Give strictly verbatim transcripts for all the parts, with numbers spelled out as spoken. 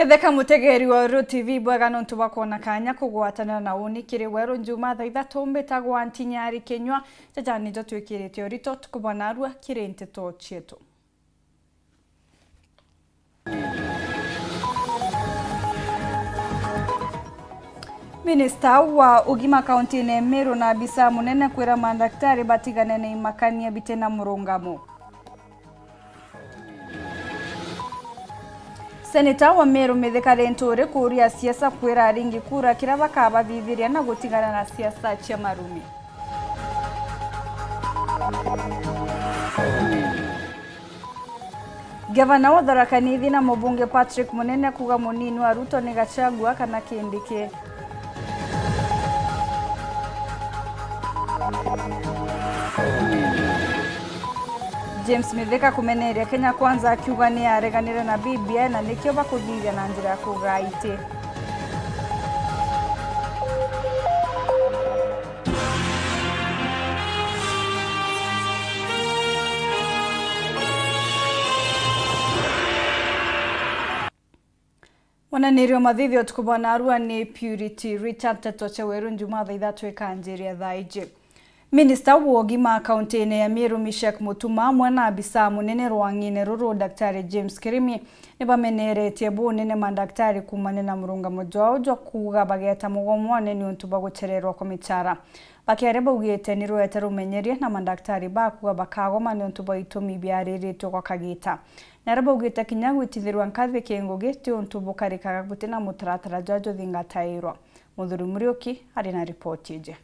Theka mutegeri wa Uru T V bwega nontu bwa kwona kanya kugwatanira na uni kiri weru njuma thaa ithatu. Mbitagwa Ntinyari Kinyua. Jaja nijo twikirite urito tukubona arua kiri nteto cietu. Minista wa ugima kauntine ya Meru na abisa munene kwira mandaktari batigane na imakania bite na murungamo. Seneta wa Meru Mithika Linturi kuuria siasa kwira aringi kura kiria bakabathithiria na gutigana na siasa cia marumi. Gavana wa Tharaka Nithi na mubunge Patrick Munene kuuga munini wa Ruto ni Gachagua kana Kindiki. James Mithika kumeneria Kenya Kwanza akiuga ni areganire na B B I na nikio bakuthithia na njira ya kugaa iti. Mwananiri wa mathithio utuku bwa narua ni Purity Richard. Nteto cia weru njuma thaa ithatu ikanjiria thaa iji. Minista wa ugima kauntine ya Meru Mishek Mutuma amwe na abisa munene rwang'ine ruru Daktari James Kirimi nibameneretie bunene mandaktari kuumania na murungamo jwao jwa kuuga bageta mugomone niuntu bwa guchererwa kwa michara. Bakiaria baugite ni rwete rumenyerie na mandaktari bakuuga bakagoma niuntu bwa itumi biariritwe gwa kagita. Naria baugite kinya gwitithirwa nkathi ki ngugi ti untu bukarikaga guti na mutaratara jwa juthingatairwa. Muthuri Muriuki ari na ripoti iji.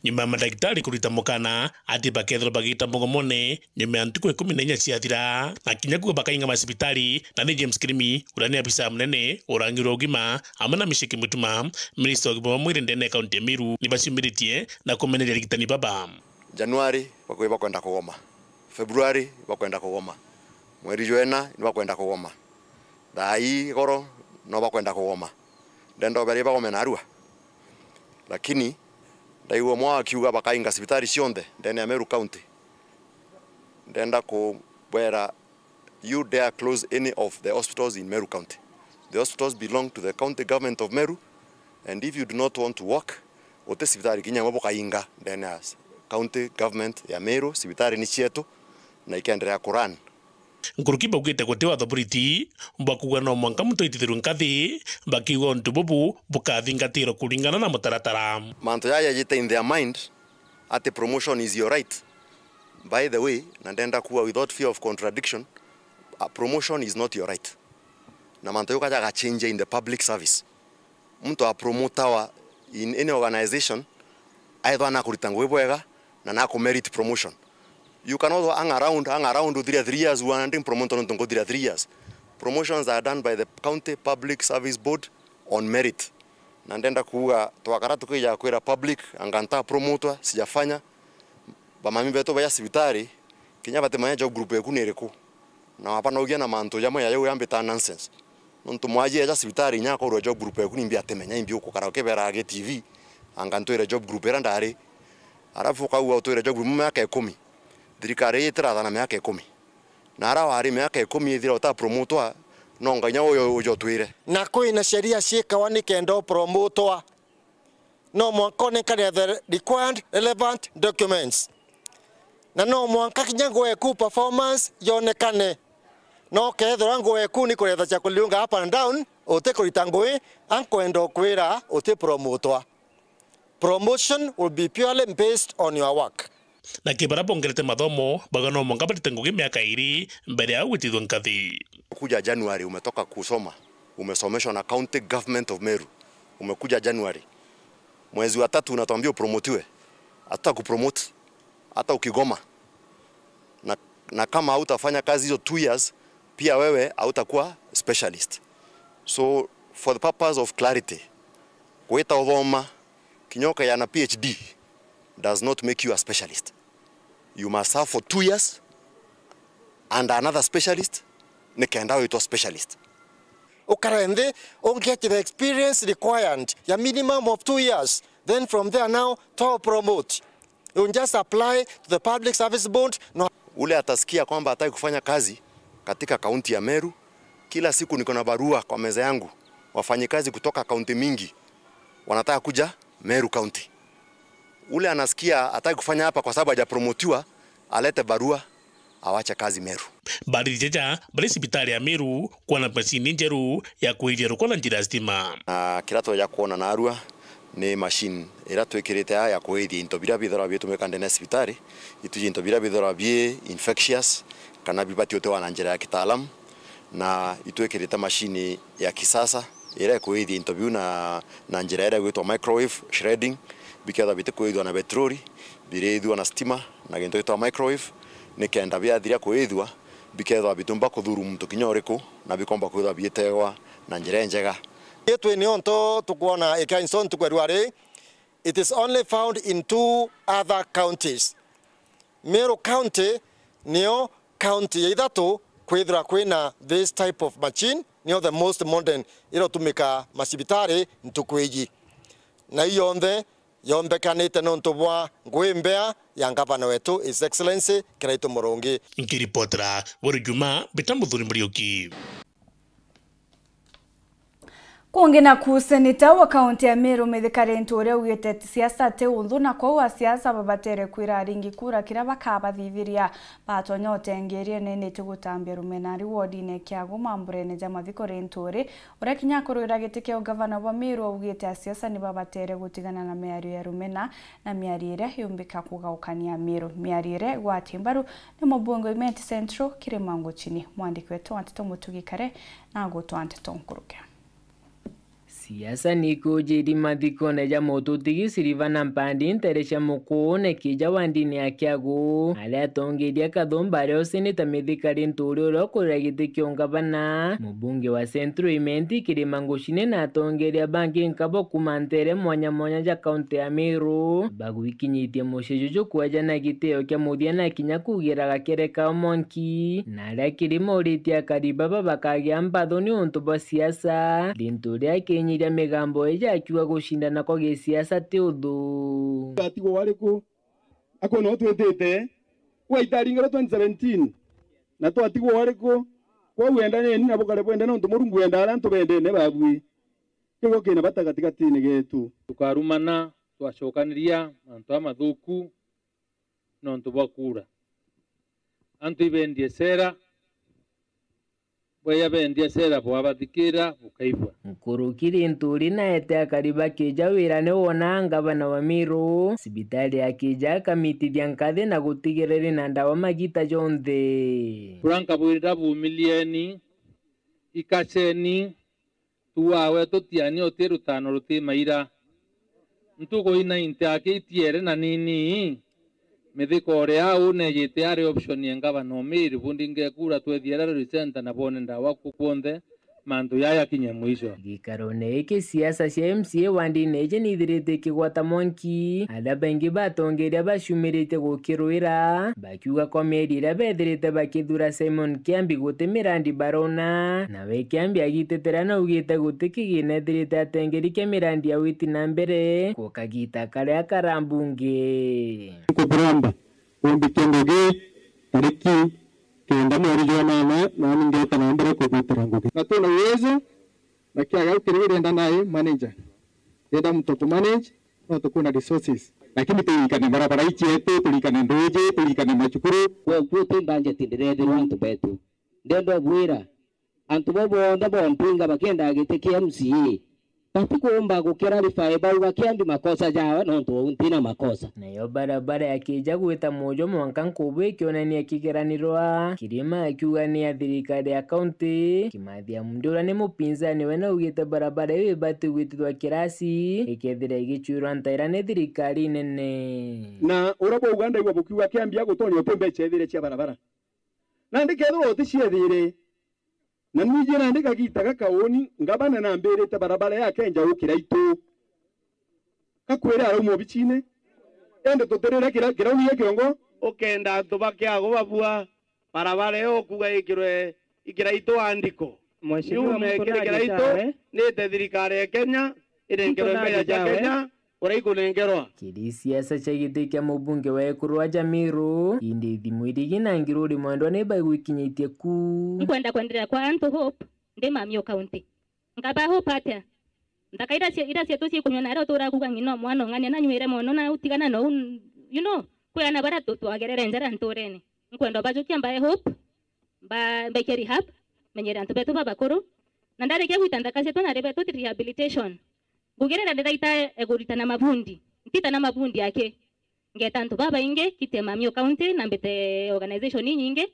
Nyuma ya mandagitari kurita mukana ati bakethirwa bagita mugomone nyuma ya ntuku ikumi na inya ciathira, na kinya kuuga bakainga macibitari, na ni James Kirimi, uria ni abisa munene urangirwa ugima, amwe na Mishek Mutuma, minista wa ugima bwa mwiri ndene ya kaunti ya Meru, ni baciumiritie na kumeneria arigitani baba. Januari bakuuga bakwenda kugoma, Februari bakwenda kugoma, mweri jwa ina ni bakwenda kugoma, thaa ii goro no bakwenda kugoma. Ndenda uberi bagome narua, lakini ndaigua mwa akiuga bakainga cibitari cionthe ndene ya Meru County. Ndenda kubwera, you dare close any of the hospitals in Meru County. The hospitals belong to the county government of Meru, and if you do not want to work, uti cibitari kinya imwe bukainga ndene ya county government ya Meru. Cibitari ni cietu na ikenderea kurun. Nkuruki baugite guti watho buriti bwa kuuga no mwanka muntu aitithirwe nkathi, bakiuga untu bubu bukathingatirwa kuringana na mutaratara. Mantu jaya jite in their mind ati promotion is your right. By the way, na ndenda kuuga without fear of contradiction, a promotion is not your right. Na mantu jau kaja gachenjia in the public service. Muntu apromotawa in any organization, aethwa nakurita ngugi bwega na nakumerit promotion. You cannot hang around, hang around uthire three years, uana ndi promoted nontu nguthira three years. Promotions are done by the County Public Service Board on merit. Na ndenda kuuga, twakara tukija kwira public, anga nta promotwa, sijafanya. Bamami betu baja cibitari, kinya batimanya job group eku ni iriku. Na wabanogia na mantu jamwe ya jau yambita nonsense. Nontu mwaji eja cibitari inya akorwa job group eku nimbi atimenya, imbi ukukara ukibera gi T V, anga ntwire job group ira ndari. Arafu ukauga utwire job group miaka ikumi. Thirikari ii itirathana miaka ikumi. Na ara wari miaka ikumi ithira utapromotwa, no nginya uyo ujotwire. Na kwina sheria ciikawa nikenda upromotwa. No mwanka onekane the required relevant documents. Na no mwanka kinya ngugi eku performance yonekane. No kethirwa ngugi eku ni kuretha cia kuliunga up and down, uti kurita ngugi, ankwenda ukwira uti promotwa. Promotion will be purely based on your work. Na ki baria bongerete mathomo, bauga no mwanka barite ngugi miaka iiri mbere ya gwitithua nkathi. Kuja January umetoka kusoma, umesomeshwa na County Government of Meru. Umekuja January. Mwezi wa tatu unatuambia upromotiwe. Hatuta kupromote hata ukigoma. Na, na kama hautafanya kazi hizo two years, pia wewe hautakuwa specialist. So, for the purpose of clarity, gwita uthoma kinya ukaya na P H D does not make you a specialist. You must serve for two years and another specialist, nikenda witwa specialist. Ukare nthi, ungetire experience required ya minimum of two years. Then from there now, to promote. You just apply to the Public Service Board. No. Ule atasikia kwamba hataki kufanya kazi katika kaunti ya Meru, Kila siku niko na barua kwa meza yangu, wafanyikazi kutoka kaunti mingi wanataka kuja Meru County. Ule anasikia hataki kufanya hapa kwa sababu hajapromotiwa, alete barua, awache kazi Meru. Barithia ja bari cibitari ya Meru kwona macini njeru ya kuithia ruko na njira ya stima. Na kira tweja kwona narua ni machine ira twikirite aa ya kuithia into bira bithirwa bitumika ndene ya cibitari, itwiji into bira bithirwa bi infectious kana bibati utiwa na njira ya kitaalamu, na itwikirite machine ya kisasa ira ikuithia into biu na, na njira ira igwitwa microwave shredding, bikethwa bitikuithua na petroli, birithua na stima na gintu gitwa microwave, nikenda biathiria kuithua, bikethwa bitumba kuthuru muntu kinya uriku, na bikomba kwithwa bietegwa na njira injega. Itwi niontu tukwona ikia inso ntuku ya rua ri, it is only found in two other counties. Meru County niyo county ya ithatu kwithirwa kwina this type of machine, niyo the most modern ira utumika macibitari ntuku iji. Na ii yonthe yombekanite nontu bwa ngui mbea ya ngavana wetu, His Excellency Kiraitu Murungi. Nkiripotera Weru Juma, Mbita Muthuri Muriuki. Kungi naku, seneta wa kaunti ya Meru Mithika Linturi augite siasa ti unthu, na kwou asiasa babatere kwira aringi kura kiria bakabathithiria. Batonya utengeria nene ti gutambia rumena ari wodine Kiagu mamburene ja mathiko. Linturi, uria kinya akurwira giti kia ugavana bwa Meru, augite asiasa ni babatere gutigana na miario ya rumena na miario iria yumbika kugaukania Meru. Miario iria igwati mbaru ni mubunge wa Imenti Central, Kirima Nguchini. Mwandiki wetu wa nteto Mutugi Kare na agutwa nteto nkuruke. Siasa ni ikujiri mathikone ja mututigi Silvana Mpandi ntere cia Mukuune kija wa ndini ya Kiagu, aria atongeria kathumba aria ucinite Mithika Linturi uria ukurira giti kia ungavana, mubunge wa Central Imenti Kirima Nguchini na atongeria bangi nkabo kuma ntere mwanya mwanya ja kaunti ya Meru, bagwikinyitie mucii juju kwejana gitio kia muthia na kinya kugira gakere ka mwanki, na aria Kirima uritie akari baba bakagia mpatho ni untu bwa siasa, Linturi akinyiria migambo iji akiuga gucindana kwa gisiasa ti uthu. Twatigwa wariku? Akona utwitite, gwaitaringira twenty seventeen, na twatigwa wariku? Kwou endaneni na bukare bwenda, nontu Murungu wendaa aria antu bendene babui. Kiugo kina bata gatigatine getu. Tukarumana, twacokaniria mantu amathuku nontu bwa kuura. Antu ibendie cera, bweya bendie cera, bwabathikira, bukaigua. Nkuruki Linturi naete akari bakija wira ni wona ngavana wa Meru, cibitari ya kija akamitithia nkathi na gutigira ri na ndawa magita jonthe. Bura nkabwira, bumilieni, ikaceni, tuawe tutiani uti rutano ruti maira. Ntuku ina inte akitiere na nini, mithiko ore au nejite ari option ya ngavana Omiri, bundi ngekura twethiere Rally Center na bone ndawa ku kwonthe, mantu yaya kinye mwisho. Gikarone giki, siasa cia M C A wa ndini iji nithirite ikigwata mwanki, aria baingi batongeria baciumiritie gukirwira, bakiuga kwa mieri iria bethirite bakithura Simon Kiambi guti mirandi barona, nawe Kiambi agitetera na augite guti kigina ethirite atengeri kia mirandi ya witi na mbere ku kagita karia karambunge. Nkuburamba kumbikia ngugi tariki kenda mweri jwa nana, nani ngeeta na mbere kugwitira ngugi. Na twina uwezo, na kiaga kiri irenda nae manager. Irenda mtu ku manage, no tukuna resources. Lakini tulikane barabara icietu, tulikane nduji, tulikane macukuru. Kwoguo ti budget ndirethirwa antu betu. Ndenda ubwira, antu bau bonthe bompinga bakiendaga giti kia M C A, batikumba gukirarify bauga Kiambi makosa jawe, nontu uu ntina makosa. Nayo barabara ya kija gwita Mujo mwanka Nkubu ikionania kigeranirwa, Kirima akiuga ni ya thirikari ya kaunti. Kimathi Amundi uria ni mupinzani we naugite barabara iu ibati gwitithwa kirasi, ikethira igicwirwa ntaira ni thirikari nene. Na uria bauga ndaigua bukiuga Kiambi agutonya uti mbeca ethire cia barabara. Nandi kethirwa uticiethire, na nwiji nandi kagita gaka uni, ngavana nambirite barabara ya Kenja u Kiraitu. Gakwire arauma obicine, indi tutirire kira-, kirauni gia kiongo. Ukenda antu ba Kiagu babua barabara iyo ukuga ikirwe i Kiraitu andiko. Mheshimiwa, yume mtu kiri naje Kiraitu, jawe. Nite thirikari ya Kenya, irengerwe mbeca cia Kenya, uria ikunengerwa. Kiri siasa cia giti kia mubunge wa ekuru wa Jamiru, indi ithimu irigi na ngiruri mwendwa ni baigwikinyitie ku. Nkwenda kwenderea kwa antu hope, ndi mami o county. Nkaba hope atia? Nthaka ira cia-, ira cietu ciikunyua naria utuura kuuga ng'ina o mwana ung'ania na nywire mono na utigana nou, you know, kwi ana baria tu-, twagerere njara ntuurene. Nkwenda ubajukia mbae hope, mba-, mbaikie rehab, menyere antu betu babakuru. Na ndarikia gwita nthaka cietu nari betu rehabilitation. Ngugi iria ndiraita e kurita na mabundi. Ntita na mabundi aki. Ngeeta antu babaingi, kiti Mami o county, na mbite organization inyingi,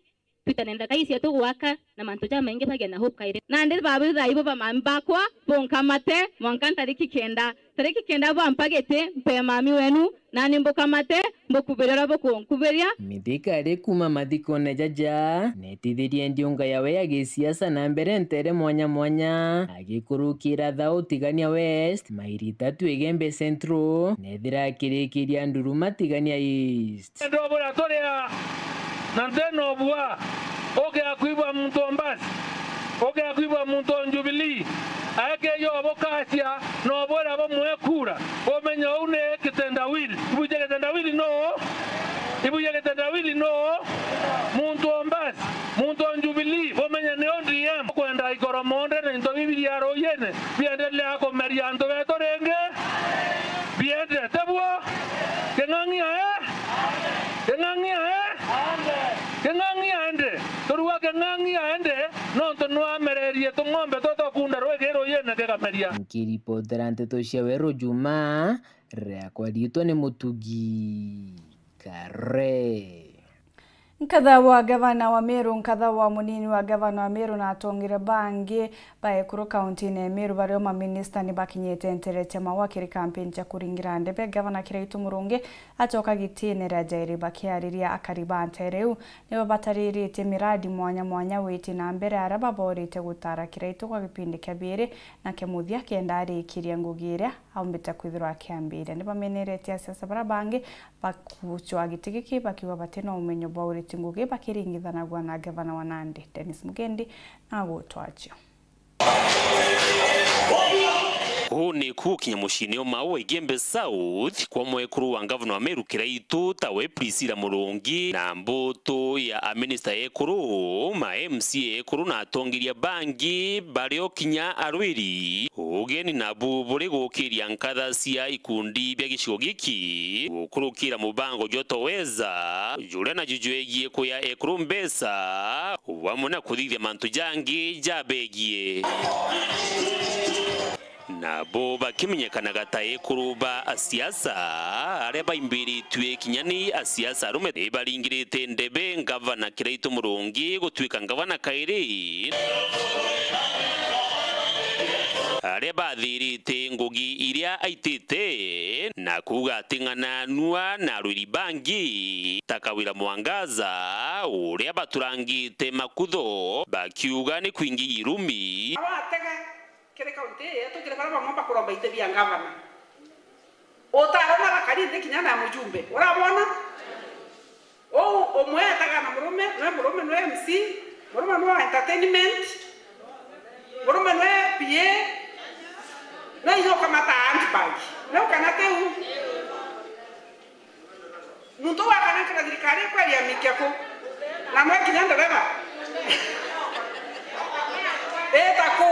twitane nthaka ii cietu gwaka, na mantu jamaingi bagie na hope kairi. Nandi babitha ibo ba mami bakwa, bunkamate, mwanka ntariki kenda. Tariki kenda bwampa giti, mpe mami wenu, nani mbukamate, mbukubiria uria bukunkubiria. Mithika ari kuuma mathikone jaja, netithirie ndiunga yawe ya gisiasa na mbere ntere mwanya mwanya, agikurukira Thao Tigania West, mairi itatu Igembe Central, nethira akirikiria Nduruma Tigania East. Ndobura turia na nthena obua, ukia kwigua muntu o mbasi, ukia kwigua muntu o Jubilee, aekeja obukacia na obwira bumwe kura, umenye uu ni kitendawili. Ibuije kitendawili no? Ibuije kitendawili no? Muntu o mbasi, muntu o Jubilee, bumenye ni O D M. Kwenda ikoromonde na into bibiria ruyene biendelea kumeria antu betu ringi. Biendete buo? King'ang'i ae? King'ang'i ae? King'ang'i aende? Turua King'ang'i aende, nontu nwamererie tung'ombe twa twakunda rwigi ruyene kikameria. Nkiripotera nteto cia Weru Juma, riakwa riitwa ni Mutugi Kare. Nkatha wa gavana wa Meru, nkatha wa munini wa gavana wa Meru na atongire bangi ba ekuru kauntine ya Meru bario maminista ni bakinyite ntere cia Maua kiri kampeni cia kuringira ndebe. Gavana Kiraitu Murungi acoka gitine ria jairi bakiariria akari ba ntere iu ni babatariritie miradi mwanya mwanya witi na mbere aria baborite gutara Kiraitu kwa gipindi kia biiri na kia muthia kenda arikiria ngugi iria aumbite kwithirwa akiambiria. Ni bameneretie asiasa baria bangi bakucwa giti giki bakiuga bati na umenyo bwa uriti ngugi bakiringithanagua na gavana wa Nandi, Dennis Mugendi, na agutwachio. Uu ni kugukinya muciini o Maua Igembe South kwa mwekuru wa ngavana wa Meru Kiraitu tawe Priscilla Murungi na mbutu ya aminista ekuru, ma M C A ekuru na atongeria bangi bario kinya arwiri. Ugeni nabu buri gukiria nkatha cia ikundi bia gicigo giki gukurukira mubango jwa Toweza, juria naju jwegie kuya ekuru mbeca, bamwe na kuthithia mantu jangi jabegie. Nabo bakimenyekanaga ta ekuru ba asiasa, aria baimbiritue kinya ni asiasa arume, ni baringirite ndebe ngavana Kiraitu Murungi gutuika ngavana kairi. Aria bathirite ngugi iria aitite na kuuga ati ng'ana nua na arwiri bangi ta Kawira Mwangaza uria baturangite makutho bakiuga ni kwingi irumi. Abatega kiri kaunti ii yetu, kiri baria bamwe bakuromba iti bia ngavana. Utarona bakari nthi kinya na mujumbe. Urabona? Uu umwe etaga na murume, nwe murume nwe M C, murume nwe wa entertainment, murume nwe P A, na inya ukamata handbag. Nwe ukana tiu? Muntu uu akanankira thirikari ikweria mikia ku? Na nwe kinya ndereba? Ita ku?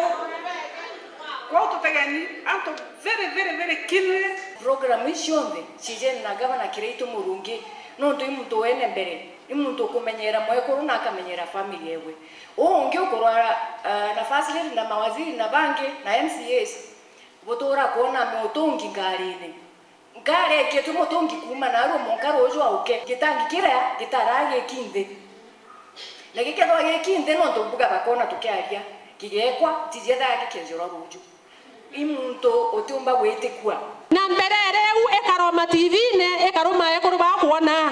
Kwou tutegeni antu very, very, very keenly. Program ici cionthe cijene na Gavana Kiraitu Murungi, nontu i muntu wene mbere, i muntu ukumenyera mwekuru na akamenyera family ewe. Uu ungi ukurwara, ah, na first lady na mawaziri na bangi na M C As, butura kwona mutungi ngarine. Nkari aikietwe mutungi kuuma narua mwanka ruuju auke. Gitangi kiria gitaraa giki nthi. Na gikethirwa giki nthi, nontu mbuga bakona tukiaria, kigekwa, ntiji ethaga gikienjerwa ruuju. I muntu utiumba gwitikua. Na mperere iu ikaroma T V-ine, ikaruma ekuru bakwona.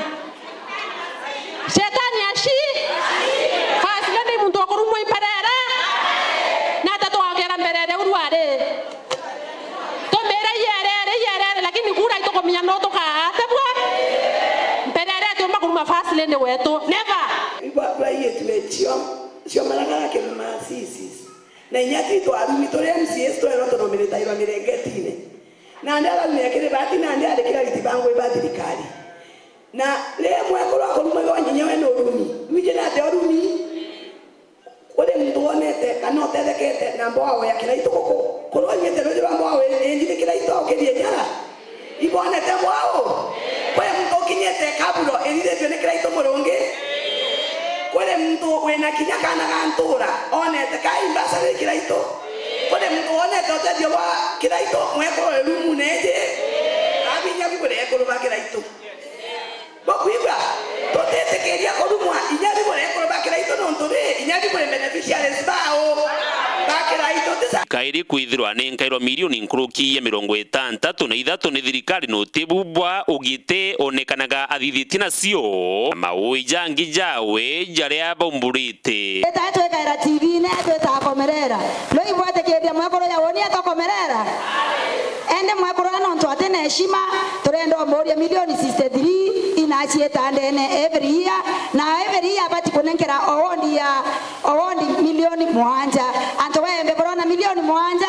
Shetani aci. First lady muntu wa kurumwa imperere. Na ata twagera mperere uru ari. Tumire iyerere, iyerere, lakini kura itukumenya no tukaatebua. Mperere atiumba kuruma first lady wetu. Never. Igwa twaiyitwe cio, cio maragara kiri ma C Cs. Na inya ti twarumi turi M C As twerwa tunominitairwa mirengetine. Nandi araumire kiri bati nandi ari kira riti bangwe ba thirikari. Na ri mwekuru akurumagirwa nginya we ni urumi. Nwiji nate urumi? Kuri muntu wonete Na no tethekete na mbwao ya Kiraitu guku. Kurwa nyite ruji rwa mbwao injiri Kiraitu au kirie nyara. Ibonete mbwao? Kwi muntu ukinyite kaburo irithitwe ni Kiraitu Murungi? Kuri muntu wina kinya kana ga ntura onete kai mbasari Kiraitu? Kuri muntu wonete utethio bwa Kiraitu mwekuru irumu neji? Abinya bibure ekuru ba Kiraitu. Bukwigua? Tutitikiria kurumwa inya bibure ekuru ba Kiraitu nontu ri inya bibure beneficiaries bao ba Kiraitu. Tisa. Kairi kwithirwa ni nkairwa milioni nkuruki ya mirongo itantatu na ithatu ni thirikari noti bubwa ugite onekanaga athithitie nacio. Maui jangi jawe jaria baumburite. Ita twikaira T V-ini, twita komerera. Loi bwetikiria mwekuru ya woni atokomerera? Ende mwekuru na nontu ati na heshima, turenda umuria milioni sixty-three inaciita ndene every year, na every year abati kunenkera owondi ya, owondi milioni mwanja. Antu baembe burona milioni mwanja.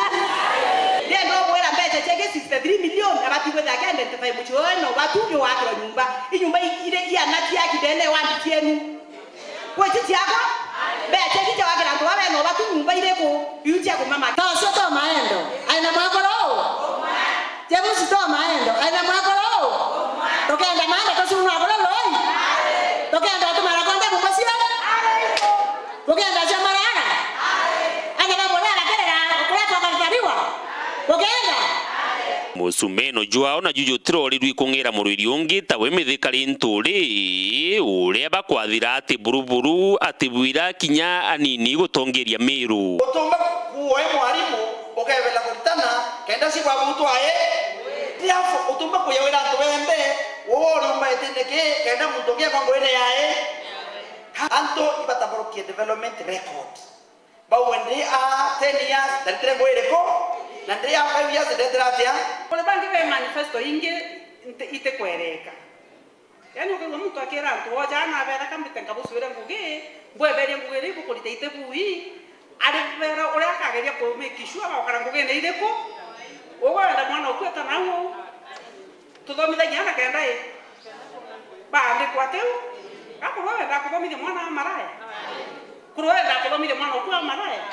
Ndienda ubwira mbeca ciake sixty-three million, abati gwithira aki identify mucii uyu no batu ni wakirwa nyumba. Inyumba i-, iri iana ciaki ndene wandi cienu. Kwi ici ciakwa? Mbeca ici cia gwakira antu baba eno batu nyumba iriku? Iu cia kumama. Tocio to maendo. Aina mwekuru uu? James to maendo. Aina mwekuru uu? Tukenda maendo tucunwa buru loi? Tukenda tumara konde mumacio? Tukenda cia marara? Aina ba murara kirira, kuria twakatariwa? Tukenda? Musumeno jwao naju jutirorirwe kung'ira murwiri ungi tawe mithikari nturi, uria bakwathira ati buruburu, ati bwira kinya anini gutongeria Miru. Utumba kuoe mwarimu ukebela kuritana kenda cibwa butwa i. Therefore, utumba kuyawira antu bembe, wowe uriumba itine ki kenda muntu ungi ekwa nguine yae. Antu ibatamburukie development record. Bauwe ndi a ten years, ndaritire ngugi iriku? Na ndi a five years, ndetire atia? Kuri bangi be manifesto ingi nti-, itikwereka. Yaani ukaigua muntu akira antu, "Oja ana abera kambite nkabuswire ngugi, mbweberie ngugi iria ibukurita iti bui," ari bera uria akageria ku make sure bagukara ngugine iriku? Ugwe wenda mwana uku eta nau uu? Tuthomithagia ana kenda i? Baandikwa atiu? Gakurwa wenda kuthomithia mwana wa maraya? Kurwa wenda kuthomithia mwana uku wa maraya?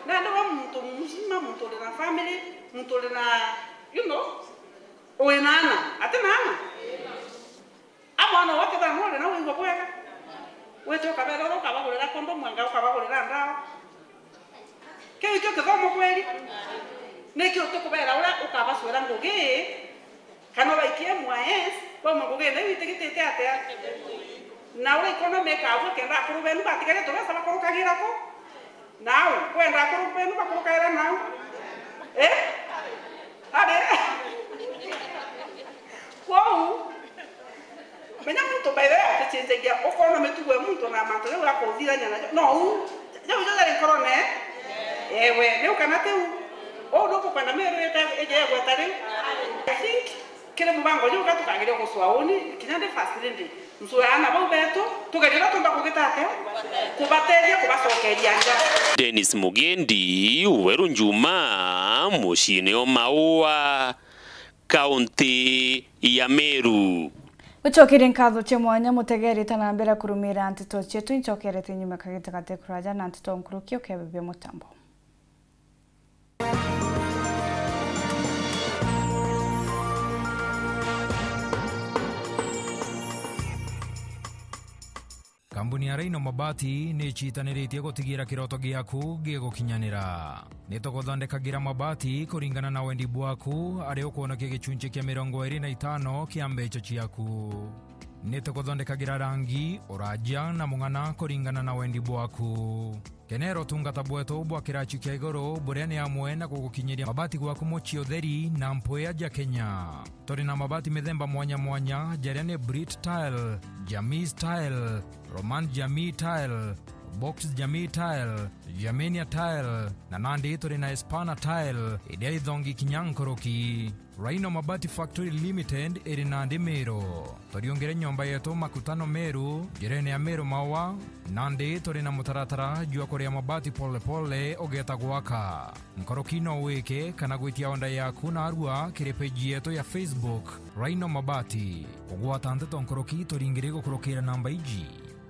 Nandi we muntu mzima, muntu uri na family, muntu uri na, you know, uri na ana, ati na ana? A mwana wake thana uri na wigua bwega? Wite ukabera uria ukabagurira kondomu, anga ukabagurira ndawa? Kiu ikio kithomo kweri? Niki utikubera uria ukabacwira ngugi, kana ubaikie M Y S, bauma ngugine iu itigitite atia? Na uria economy ikabua kenda akuru benu batigaria tubesa bakurukagira ku? Nau, kwenda akuru benu bakurukagira nau? Eh? Ari? Kwou, menya muntu by the way aticenjagia, ukona mitugo ya muntu na mantu jau akuthithania najo. No u, jau jo jari nkorone? Ewe, riu kana tiu? Uu nukukwenda Miru ite ije igweta riu? I think kiri mubango juu ka tukageria gucua uni, kinya ndi first lady. Ncua aana bau betu, tugerie uria tumba kugita atia? Kubateethia, kubacokeria nja. Dennis Mugendi, Weru Njuma, muciine o Maua. Kaunti ya Meru. Gucokeria nkatho cia mwanya mutegerite na mbere kurumira nteto cietu, incokerete nyuma kagita gate kuraja na nteto nkuruki ukebebia mutambo. Kambuni ya Rhino Mabati ni icitaniritie gutigira kiroto giaku gigukinyanira. Ni tuguthondekagira mabati kuringana na wendi bwaku, ari ukwonokia gicunci kia mirongo iri na itano kia mbeca ciaku. Ni tuguthondekagira rangi, uraja na mung'ana kuringana na wendi bwaku. Kenera utungata bwetu bwa kiraci kia iguru, buria ni amwe na gugukinyiria mabati gwaku mucii utheri na mpwia ja Kenya. Turi na mabati mithemba mwanya mwanya, jaria ni Brit Tile, Jamii Tile, Roman Jamii Tile, Box Jamii Tile, Germania Tile, na nandi turi na Espana Tile, iria ithongi kinya nkuruki. Rhino Mabati Factory Limited iri nandi Meru. Turiungire nyomba yetu Makutano Meru, njirene ya Meru Maua, nandi turi na mutaratara jwa kuria mabati pole pole ugeeta gwaka. Nkuruki no wike kana gwitia order yaku narua kiri page yetu ya Facebook, Rhino Mabati. Kugwata nteto nkuruki turingiri gukurukira namba iji.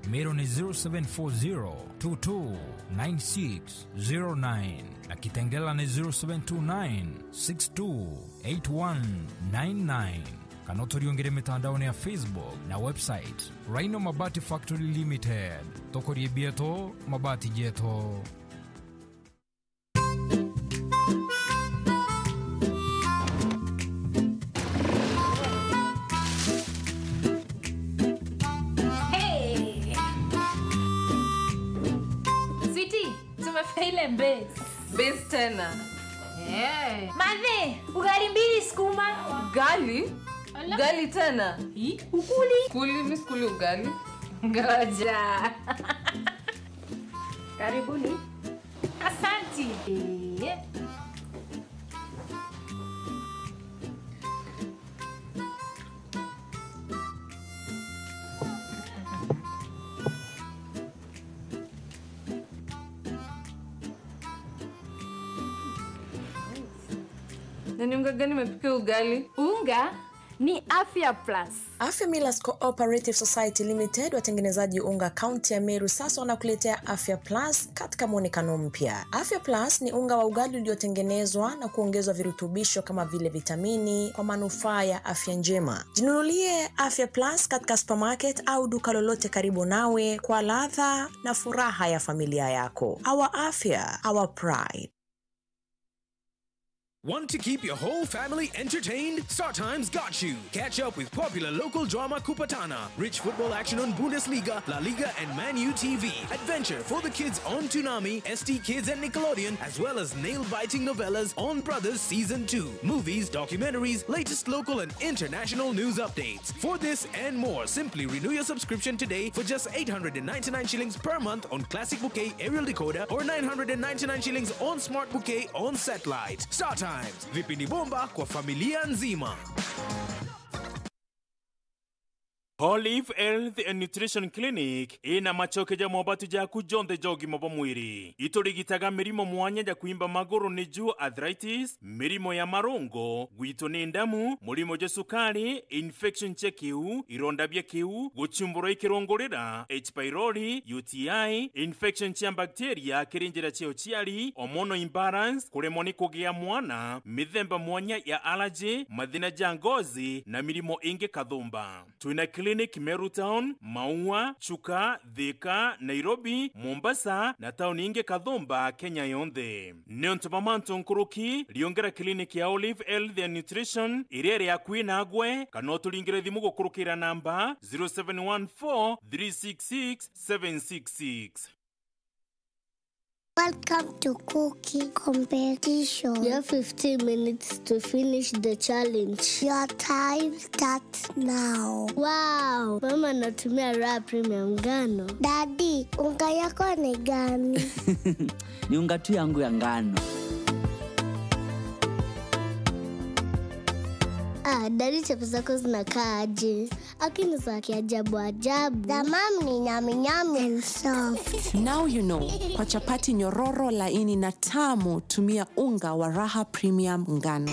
Meru ni zero seven four zero two two nine six zero nine na Kitengela ni zero seven two nine six two eight one nine nine. Kana uturiungire mitandaone ya Facebook na website. Rhino Mabati Factory Limited. Tukurie bietu, mabati jetu. Hey! Sweetie, tumefika ile base. Base tena. Eh. Mathe, ugali mbili sukuma. Ugali? Ala. Ugali tena? Hi? Ukuli? Kuli, mi sikuli ugali. Ngoja. Karibuni. Asanti. Eh. Na ni unga gani umepikia ugali? Unga ni Afya Plus. Afya Millers Cooperative Society Limited, watengenezaji unga kaunti ya Meru, sasa wanakuletea Afya Plus katika mwonekano mpya. Afya Plus ni unga wa ugali uliotengenezwa na kuongezwa virutubisho kama vile vitamini kwa manufaa ya afya njema. Jinunulie Afya Plus katika supermarket au duka lolote karibu nawe kwa ladha na furaha ya familia yako. Our afya, our pride. Want to keep your whole family entertained? StarTimes got you. Catch up with popular local drama Kupatana, rich football action on Bundesliga, La Liga, and Man U T V, adventure for the kids on Toonami, S T Kids, and Nickelodeon, as well as nail-biting novellas on Brothers Season two, movies, documentaries, latest local and international news updates. For this and more, simply renew your subscription today for just eight hundred and ninety-nine shillings per month on Classic Bouquet aerial decoder or nine hundred and ninety-nine shillings on Smart Bouquet on satellite. StarTimes, vipindi bomba kwa familia nzima. Olive Health and Nutrition Clinic ina macoke ja mobatu jaku jonthe ja ugima bwa mwiri. Iturigitaga mirimo mwanya ja kwimba maguru, niju arthritis, mirimo ya marungo, gwitwo ni ndamu, murimo jwa sukari, infection cia kiu, ironda bia kiu, guchumburwa i kirungurira, H. pylori, U T I, infection cia bacteria kiri njira cia uciari, hormonal imbalance, kuremwa ni kugia mwana, mithemba mwanya ya allergy, mathina ja ngozi, na mirimo ingi kathumba. Twina clinic Meru Town, Maua, Chuka, Thika, Nairobi, Mombasa, na tauni ingi kathumba Kenya yonthe. Niuntu bwa mantu nkuruki, riungera clinic ya Olive Health and Nutrition iria iri akui nagwe, kana uturingire thimu gukurukira namba zero seven one four three six six seven six six. Welcome to cooking competition. You have fifteen minutes to finish the challenge. Your time starts now. Wow, mama anatumia Raha Premium ngano. Daddy, unga yako ni gani? Ni unga tu yangu ya ngano. Ah, daddy, chapo zako zinakaa aje? Lakini za kiajabu ajabu. Za mam ni nyami nyami and soft. Now you know, kwa chapati nyororo, laini na tamu, tumia unga wa Raha Premium ngano.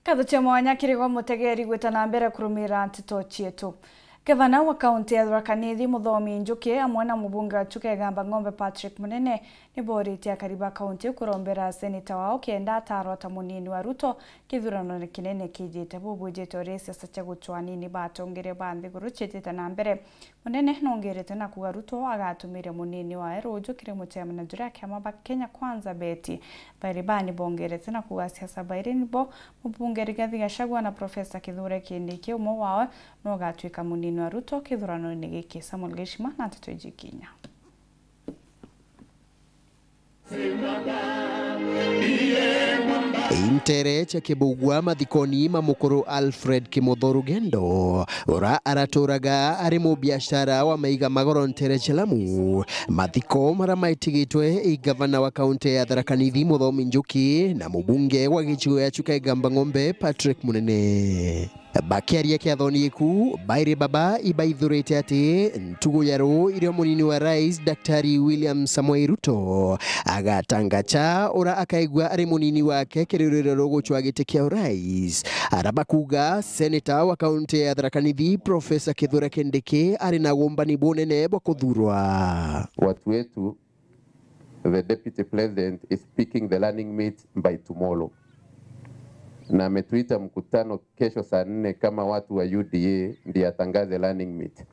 Nkatho cia mwanya kiri gwe mutegeri gwita na mbere kurumira nteto cietu. Gavana wa kaunti ya Tharaka Nithi Muthomi Njuki amwe na mubunge wa Chuka Igamba Ng'ombe Patrick Munene ni booritie akari ba kaunti iu kurombera seneta wao kenda ataarwa ta munini wa Ruto kithuranone kinene kijite. Buu bwijite uria siasa cia gucwa anini ba atongeria ba nthiguru ciitite na mbere. Munene nongerete na kuuga Ruto agatumire munini wae ruuju kiri mucemania juria kiama ba Kenya Kwanza beti. Bairi baa ni bongerete na kuuga siasa bairi nibo mubunge Rigathi Gachagua na Professor Kithure Kindiki, umwe wao no ugatwika munini wa Ruto kithuranone giki. Samuel Gishima na nteto iji kinya. Intere cia Kibugua mathikoni ma mukuru Alfred Kimotho Rugendo, ura araturaga ari mubiashara wa maiga magoro ntere cia Lamu. Mathiko mara maitigitwe i gavana wa kaunti ya Tharaka Nithi Muthomi Njuki na mubunge wa gicigo ya Chuka Igamba Ng'ombe Patrick Munene. Bakiaria kiathoni giku, bairi baba ibaithurite ati ntugu ya ruu irio munini wa rais Daktari William Samoei Ruto agatangacha ura akaigua ari munini wake kiri ruriro rugucwa giti kia urais. Ara bakuga seneta wa kaunti ya Tharaka Nithi Professor Kithure Kindiki ari na umbani bunene bwa kuthurwa. Watu wetu, the deputy president is picking the running mate by tomorrow, na ametuita mkutano kesho saa nne kama watu wa U D A ndiye atangaze running mate.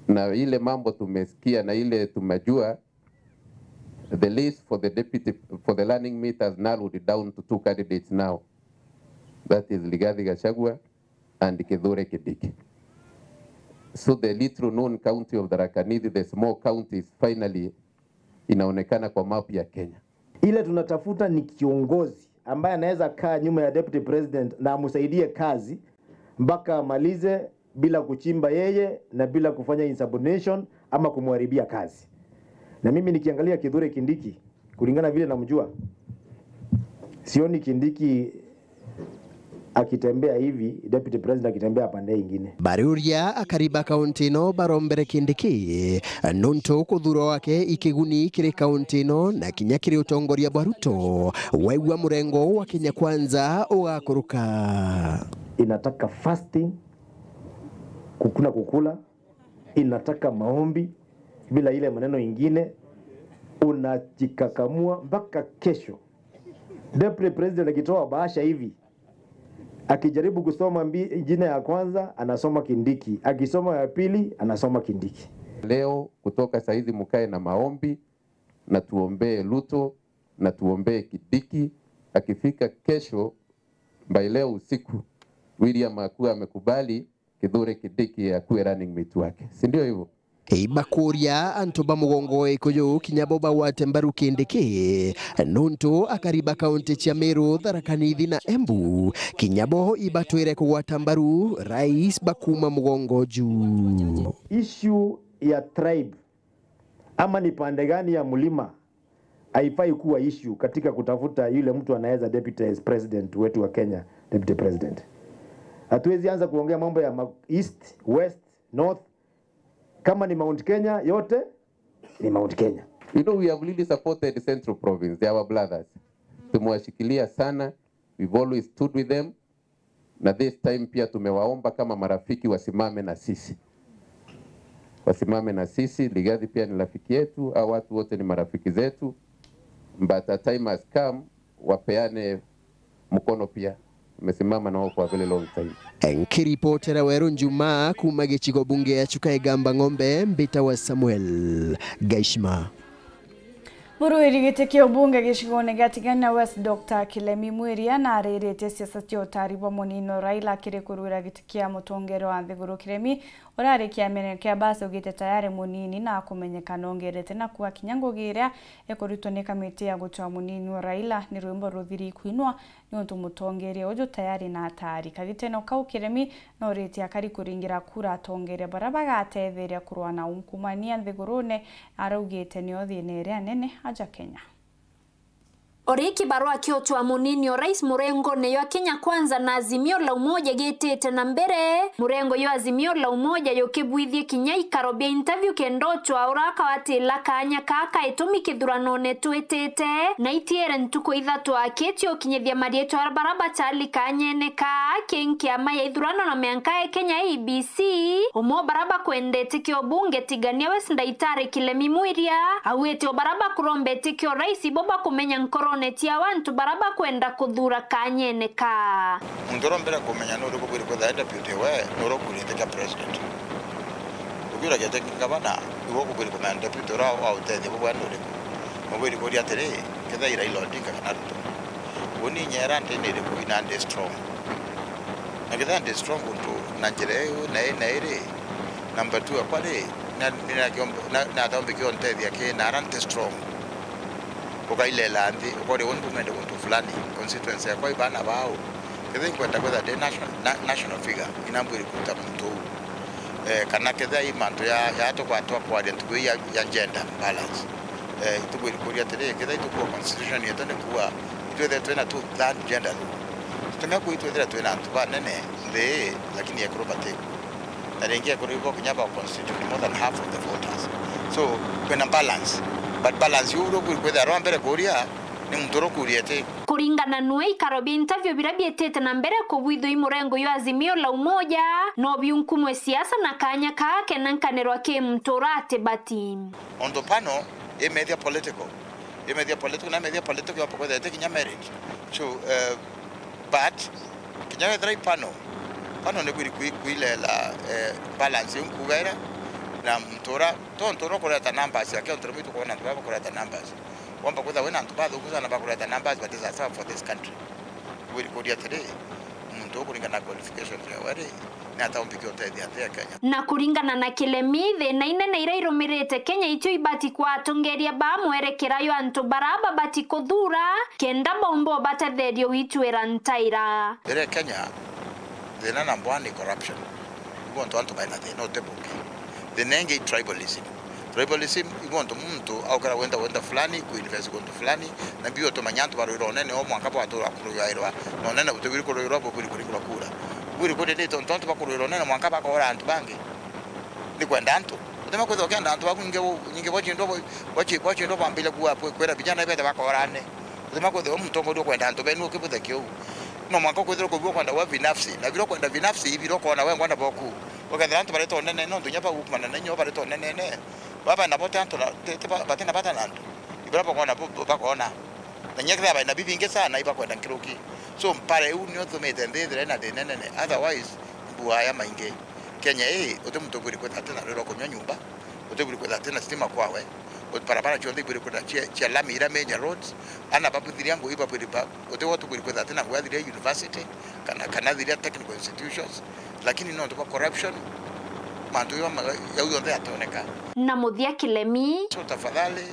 Na ile mambo tumesikia na ile tumejua, the list for the deputy, for the running mate has narrowed down to two candidates now. That is Rigathi Gachagua and Kithure Kindiki. So the little known county of Tharaka Nithi, the small county, is finally inaonekana kwa map ya Kenya. Ile tunatafuta ni kiongozi ambaye anaweza kaa nyuma ya deputy president na amsaidie kazi mpaka amalize bila kuchimba yeye na bila kufanya insubordination ama kumharibia kazi. Na mimi nikiangalia Kithure Kindiki, kulingana vile namjua, sioni Kindiki akitembea hivi, deputy president akitembea pande ingine. Bariuria akari ba kaunti ino barombere Kindiki nuntu kuthurwa gwake ikiguni kiri kaunti ino na kinya kiri utongoria bwa Ruto, waigua murengo wa Kenya Kwanza ugakuruka. Inataka fasting, kukuna kukula, inataka maombi, bila ile maneno ingine, unajikakamua mpaka kesho. Deputy President akitoa bahasha hivi, akijaribu kusoma mbi-, jina ya kwanza, anasoma Kindiki, akisoma ya pili, anasoma Kindiki. Leo kutoka saizi mukae na maombi, na tuombee Ruto, na tuombee Kindiki. Akifika kesho, by leo usiku, William akuwa amekubali Kithure Kindiki akuwe running mate wake. Si ndio hivyo? Ibakuria antu ba mugongo wa Gikuyu kinya bo bagwate mbaru Kindiki, nuntu akari ba kaunti cia Meru, Tharaka Nithi na Embu kinya bo ibatwire kugwata mbaru rais bakuma mugongo juu. Issue ya tribe ama ni pande gani ya mlima haifai kuwa issue katika kutafuta yule mtu anaweza deputy president wetu wa Kenya, deputy president. Hatuwezi anza kuongea mambo ya ma-, east, west, north. Kama ni Mount Kenya yote, ni Mount Kenya. You know, we have really supported Central Province, they are our brothers. Tumewashikilia sana, we've always stood with them. Na this time pia tumewaomba kama marafiki wasimame na sisi. Wasimame na sisi, Rigathi pia ni rafiki yetu, hao watu wote ni marafiki zetu. But a time has come, wapeane mkono pia. Tumesimama nao for a very long time. Nkiripotera Weru Njuma kuma gicigo bunge ya Chuka Igamba Ng'ombe, mbita wa Samuel Gaishima. Muruiri giti kia ubunge gicigone gia Tigania West, Doctor Kilemi Mwiria, nariritie siasa cia utari bwa munini Raila kiri kuruira giti kia mutongeria wa nthiguru. Kilemi, uria ari kiamene kia Basi, ugite tayari munini na akumenyeka nongerete na kuwa kinya ngugi iria ikurutwo ni kamiti ya gutua munini wa Raila ni rwimbo ruthiri kwinwa, niuntu mutongeria uju tayari na atari. Kagiteno kau Kilemi noritie akari kuringira kura atongeria baria bagatetheria kurwa na ungumania nthigurune, araugite nio thina iria nene aja Kenya. Ori kibarua kia utua munini o rais murengone jwa Kenya Kwanza na Azimio la Umoja gitite na mbere, murengo jwa Azimio la Umoja jukibwithie kinya ikaro bia interview kenda utua uria akawatila kanya kaa ka itumi kithuranone twitite, na itiere ntuku ithatu akitie ukinyithia marietwa baria bachali kanyene kaa ki nkiama ya ithurano na mianka ya Kenya, I E B C. Umwe o baria bakwendete kio bunge Tigania West, Ndaitari Kilemi Mwiria, augite o baria bakuromba itikio rais ibo bakumenya nkorone ciao antu baria bakwenda kuthura kanyene kaa. Muntu uria mbere kumenya ni uriku bwiri kwithira deputy we, ni uria ukurite kia president. Ukiura giti kia gavana, iwe ukubwiri kumenya deputy uria wa utethia bubwe ni uriku. Mubwiri kuria atiri, kethira i Raila Odinga kana Ruto. Uni nyera ndi ni iriku ina ndi strong. Na kethira ndi strong untu na njira iu na ii na iri, number two akwa ri, na, ni na kiombe, na, na thombi kio ntethia ki na ara nti strong. Ukailela nthi, ukori uni bumende guntu fulani, constituency yakwa ibana bau. Kethira inkwenda kwithira ndi national, na, national figure, ina mbwiri kuruta muntu uu. Eh, kana kethira i mantu ya, ya tukwatwa kwaria ntuku ii ya, ya gender balance. Eh, itubwiri kuria atiri, kethira itukua constitution yetu ni kuwa itwithire twina two third gender rule. Tumia kwitwithira twina antu banene nthi, lakini ekuru batiku. Na ringi ekuru ibo kinya ba constitute more than half of the voters. So, kwina balance. But balance iu uria ukwithira rwa mbere kuria ni muntu uria ukuria ati. Kuringana nwe, ikaro bia interview biria biitite na mbere kubwithua i murengo jwa Azimio la Umoja, no biunkumwe siasa na kanya kaa kena nkanirwa ki muntu uratibati. Onto pano, imethia political. Imethia political, na imethia political yomba kwithira iti kinya merit. So, eh, but, kinya wethira i pano, pano ni kwiri kwi-, kwilela, eh, balance iu nkuuga ira, na muntu ura, tontu ura kureta numbers yake, ontu rimwe itukwona antu baba kureta numbers. Womba kwithira wina antu bathuku sana bakureta numbers, but it's a serve for this country. Wiri kuria atiri, muntu ukuringana na qualifications yawe ri, ni ata umbikia utethia nthi ya Kenya? Na kuringana na Kilemi, thina inene iria irumirite Kenya itio ibati kwa atongeria ba mwerekera yo antu bara babati kuthura, kenda baumba ubatetheria uitwira ntaira. Iri Kenya, thina number one ni corruption. Ibo ontu antu baina thina uti bungi. Thina ingi i tribalism. Tribalism, ibo ontu muntu aukira wenda, wenda fulani, kuinvest guntu fulani, na bio tumenya antu barwira unene o mwanka bwatura kuruirwa, na unene butibwiri kuruirwa, bubwiri kuringirwa kura. Bwiri kuri ni tontu antu bakuruirwa unene mwanka bakora antu bangi. Ni kwenda antu. Utima kwithira ukienda antu baku nyingi, nyingi bwachindwa, bwachi-, bwachindwa bwambire kuwa kwi-, kwira vijana ibete bakorane. Utima kwithira u mutongoria ukwenda antu benu ukibuthe kiu. No mwanka ukwithira kubua kwenda we binafsi. Na biro kwenda binafsi, ibiro kona we ngwenda boku. Ukethira antu bareta unene, no ndunya bagukumana na inyo bareta unene. Baba na bote antu na, te, te ba-, batina bata na antu. Ibira bakona bo, bo, bakona. Na nyekethira baina bibingi sana, ibakwenda nkiruki. So, mpara iu nio tumite nthi ithire na thina nene. Otherwise, mbua ya maingi. Kenya ii, uti muntu ubwiri kwithira atina rwira kunywa nyumba, uti ubwiri kwithira atina stima kwawe, uti barabara cionthe ibwiri kwithira cia, cia lami iria major roads, ana babuthiria ngui babwiri ba, uti wo tubwiri kwithira atina ngui athiria university, kana, kana athiria technical institutions, lakini nontu bwa corruption, mantu jau ma-, jau jonthe jationeka. Na muthia Kilemi. So tafadhali,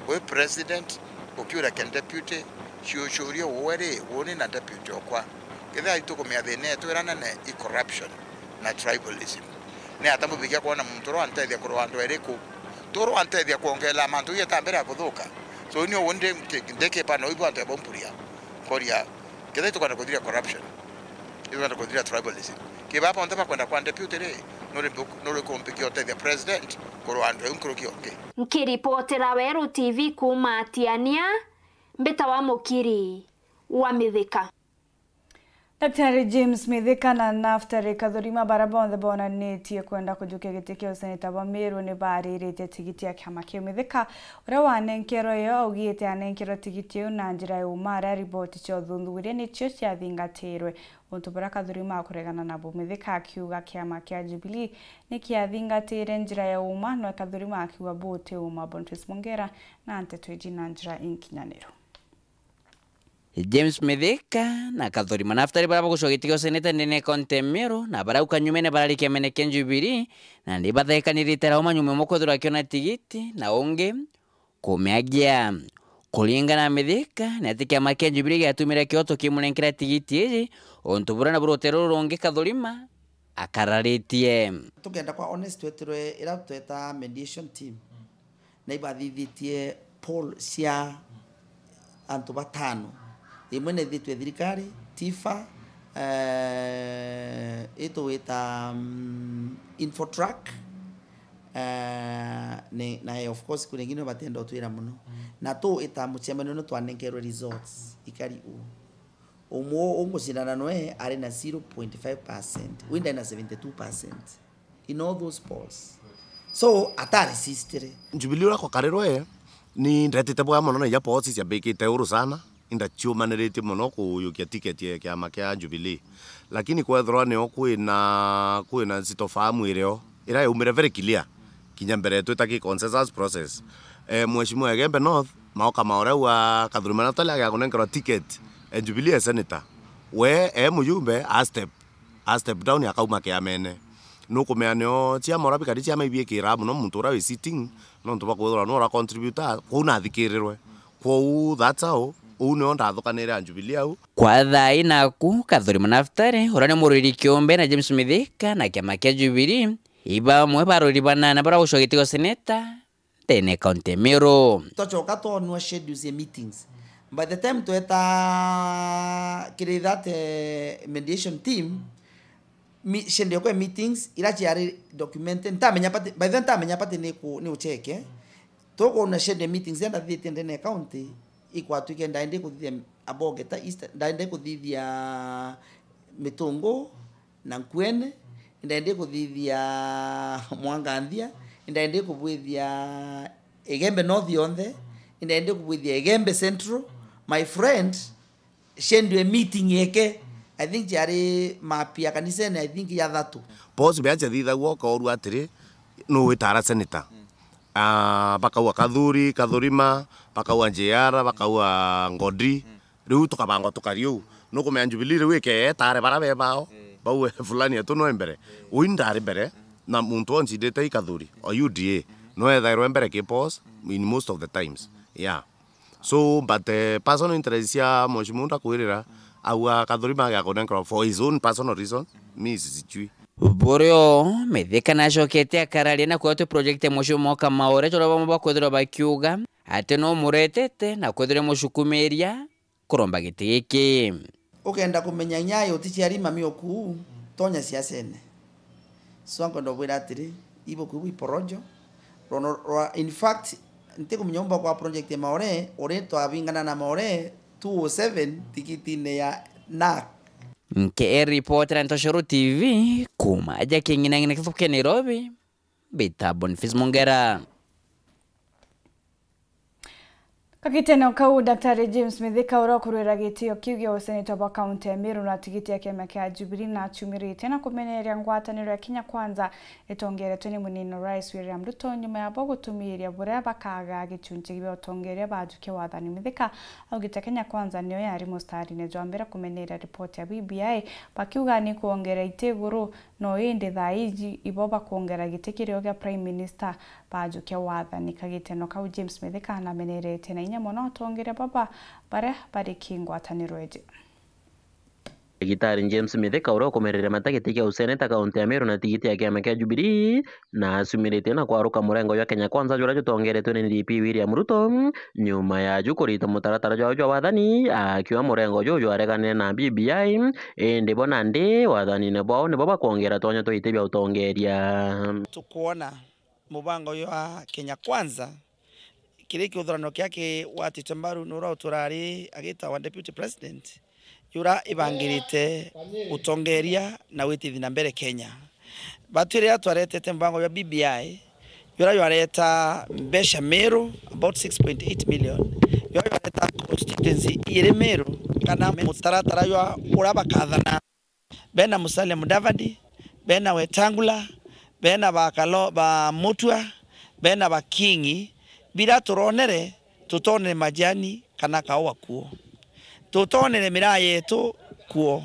wi president, ukiura ke deputy, ciucurie uwe ri, uuni na deputy okwa. Kethira itukumenya thina yetu iria nene i corruption na tribalism. Ni ata mubikia kwona muntu uria wantethia kurwa andu eri ku? Tu uria wantethia kwongerera mantu jau jatambire ya kuthuka. So, ni uuni ndi, ndi, ndikipana uyu bwa antu ya bumpuria. Nkoria, kethira itukwenda kuthiria corruption, itukwenda kuthiria tribalism. Ki baba bonthe bakwenda kwa deputy ri, nuri mbu-, nuri kumbikia utethia president kurwa andu eu nkuruki ongi. Nkiripotera Weru T V kuuma Atiania, mbita wa Mukiri wa Mithika. Daktari James Mithika na Naftali Kathurima, bara bonthe bonanitie kwenda kujukia giti kia useneta bwa Meru, ni baariritie tigiti ya kiama kiu. Mithika, uria wanenkerwe yo, augite anenkerwe tigiti iu na njira ya uma, aria riboti cia uthuthuria nicio ciathingatirwe. Untu buria Kathurima akuregana nabu, Mithika akiuga kiama kia Jubilee ni kiathingatire njira ya uma, no Kathurima akiuga buti uma. Boniface Mongera na nteto iji na njira inkinyaniru. James Mithika na Kathurima Naftali, baria bagucwa giti kia useneta ndene ya kaunti ya Meru, na baria au kanyumene barari kiamene kia Jubilee, na ni bathekanirite rauma nyuma imwe kwithirwa akiona tigiti, na ungi kumiagia. Kuringana na Mithika, ni ati kiama kia Jubilee giatumire kioto kimunenkera tigiti iji, untu buria nabu rutere ruru rungi Kathurima akararitie. Tukenda kwa honest, twetirwe ira tweta mediation team, na ibathithitue poll cia antu batano. Imwe nethitwe thirikari, Tifa, eh, itugwita, mm, Infotrack, eh, ni, na of course kuri ingine batenda utwira muno. Na tu ita mucemanio ni twanenkerwe results ikari u. Umwe ungucindana noe ari na zero point five percent, wi ndari na seventy two percent in all those polls. So, ataresistire. Jubilee uria kwakarirwe, ni ndetite bwega mono na ija polls ciambikite uru sana, indaciumaniritie mono kuyukia ticket ya kiama kia Jubilee. Lakini kwethirwa nio kwina, kwina nsitofahamu irio, iria yaumire very clear, kinya mbere twita ki consensus process. Eh, Mheshimiwa Igembe North, maoka ma uria wa Kathurima Naftali agia kunenkerwa ticket, eh, Jubilee e senator. We, e mujumbe, a step, a step down, akauma kiamene. Nukumenya nio ciama uria bikari ciama ibiikira mono muntu uria wi sitting, nontu bwa kwithirwa nwe ura contributor, kwou nathikirirwe. Kwou, that's how, uu nio ndathukanire a Jubilee au. Kwa thaa ii naku, Kathurima Naftali, uria ni murwiri kiumbe na James Mithika na kiama kia Jubilee, i bamwe barwiri banana baria bagucwa giti kia useneta ndene ya kaunti ya Meru. Twacoka twonua schedules ya meetings. By the time tweta kiri that, eh, mediation team, mi-, ciendeekwe meetings ira ciari documented, ntamenya pati, by the way, ntamenya pati ni ku-, ni ucheke. Tukwona ciende meetings enda thithitie ndene county, ikwatwike ndaende kuthithia Abogeta East, ndaende kuthithia Mitungu, na Nkuene, indaendi kuthithia Mwanganthia, indaendi kubwithia Igembe North yonthe, indaendi kubwithia Igembe Central. My friend, ciendwe meeting eke, I think ciari mapia kanisene, I think ya thatu. Boss bea ciathithagua ukaurua atiri, nu witara senator? Ah, bakaua Kathuri, Kathurima, bakaua J R, bakaua Ngodi. Riu tukabangwa tukari uu. Nukumenya Jubilee riu ikeetare bara be bao, bauwe fulani etu nwe mbere. Ui ndari mbere, na muntu oncindite i Kathuri, o U D A, nwe ethairwe mbere ki boss in most of the times. Yeah. So, but, eh, personal interest cia Mheshimiwa ndakwirira, aua Kathuri mage akunenkerwa for his own personal reason, mi sijui. Burio, Mithika nacokete akararia na kwatwe project ya Mheshimiwa Mwoka Maore, jora bamwe bakwithirwa bakiuga ati no muretete na kwithirwa mucukumiria kuromba giti giki. Ukenda kumenya nyayo ti ciari mami oku, tonya siasene. So, nkwenda ubwira atiri, ibuku ibu iporojo. Rono rwa, in fact, ntikumenya umba kwa project ya Maore, uri twabingana na Maore two oh seven tikitine ya nak. Nke report na Ntoshoro T V, kuma aja king'inang'ina kithuke Nairobi, bita Boniface Mongera. Kagitene kau, Daktari James Mithika, uria ukurwira gitio kiu gia useneta bwa kaunti ya Meru na tigiti ya kiama kia Jubilee, na aciumiritie na kumeneria ngwataniro ya Kenya Kwanza itongeretwe ni munini Rais William Ruto, nyuma ya bo gutumiria buria bakaga gichunchi gia utongeria bajukia wathani. Mithika augite Kenya Kwanza niyo yari mustarine jwa mbere kumeneria ripoti ya B B I, bakiuga ni kuongera iti iguru. No indi thaa iji ibo bakwongera giti kirio gia Prime Minister bajukia wathani. Kagiteno kau, James Mithika anameneretie na inya mono atongeria baba baria bari ki ngwataniro iji. Ndagitari James Mithika, uria ukumereria mata giti kia useneta kaunti ya Meru na tigiti ya kiama kia Jubilee, na aciumiritie na kwaruka murengo jwa Kenya Kwanza juria jutongeretwe ni D P William Ruto, nyuma ya ju kurita mutaratara jwao jwa wathani, akiuga murengo juju jwareganire na B B I, indi bo nandi wathanine bwao nibo bakwongera twanya twa iti bia utongeria. Tukwona mubango jwa Kenya Kwanza, kiri kiuthurano kia kigwatitwe mbaru ni uria uturari agitawa Deputy President, jura ibangirite utongeria na witithi na mbere Kenya. Batwi riria twaretete mubango jwa B B I, jura jwareta mbeca Meru, about six point eight million, jura jwareta constituency iri Meru, kana mutaratara jwa uria bakathana. Bena Musalia Mudavadi, bena Wetangula, bena ba Kalo-, ba Mutua, bena ba Kingi, bira turonere, tutonere majani kana kaua kuo. Tutonere miraa yetu kuo.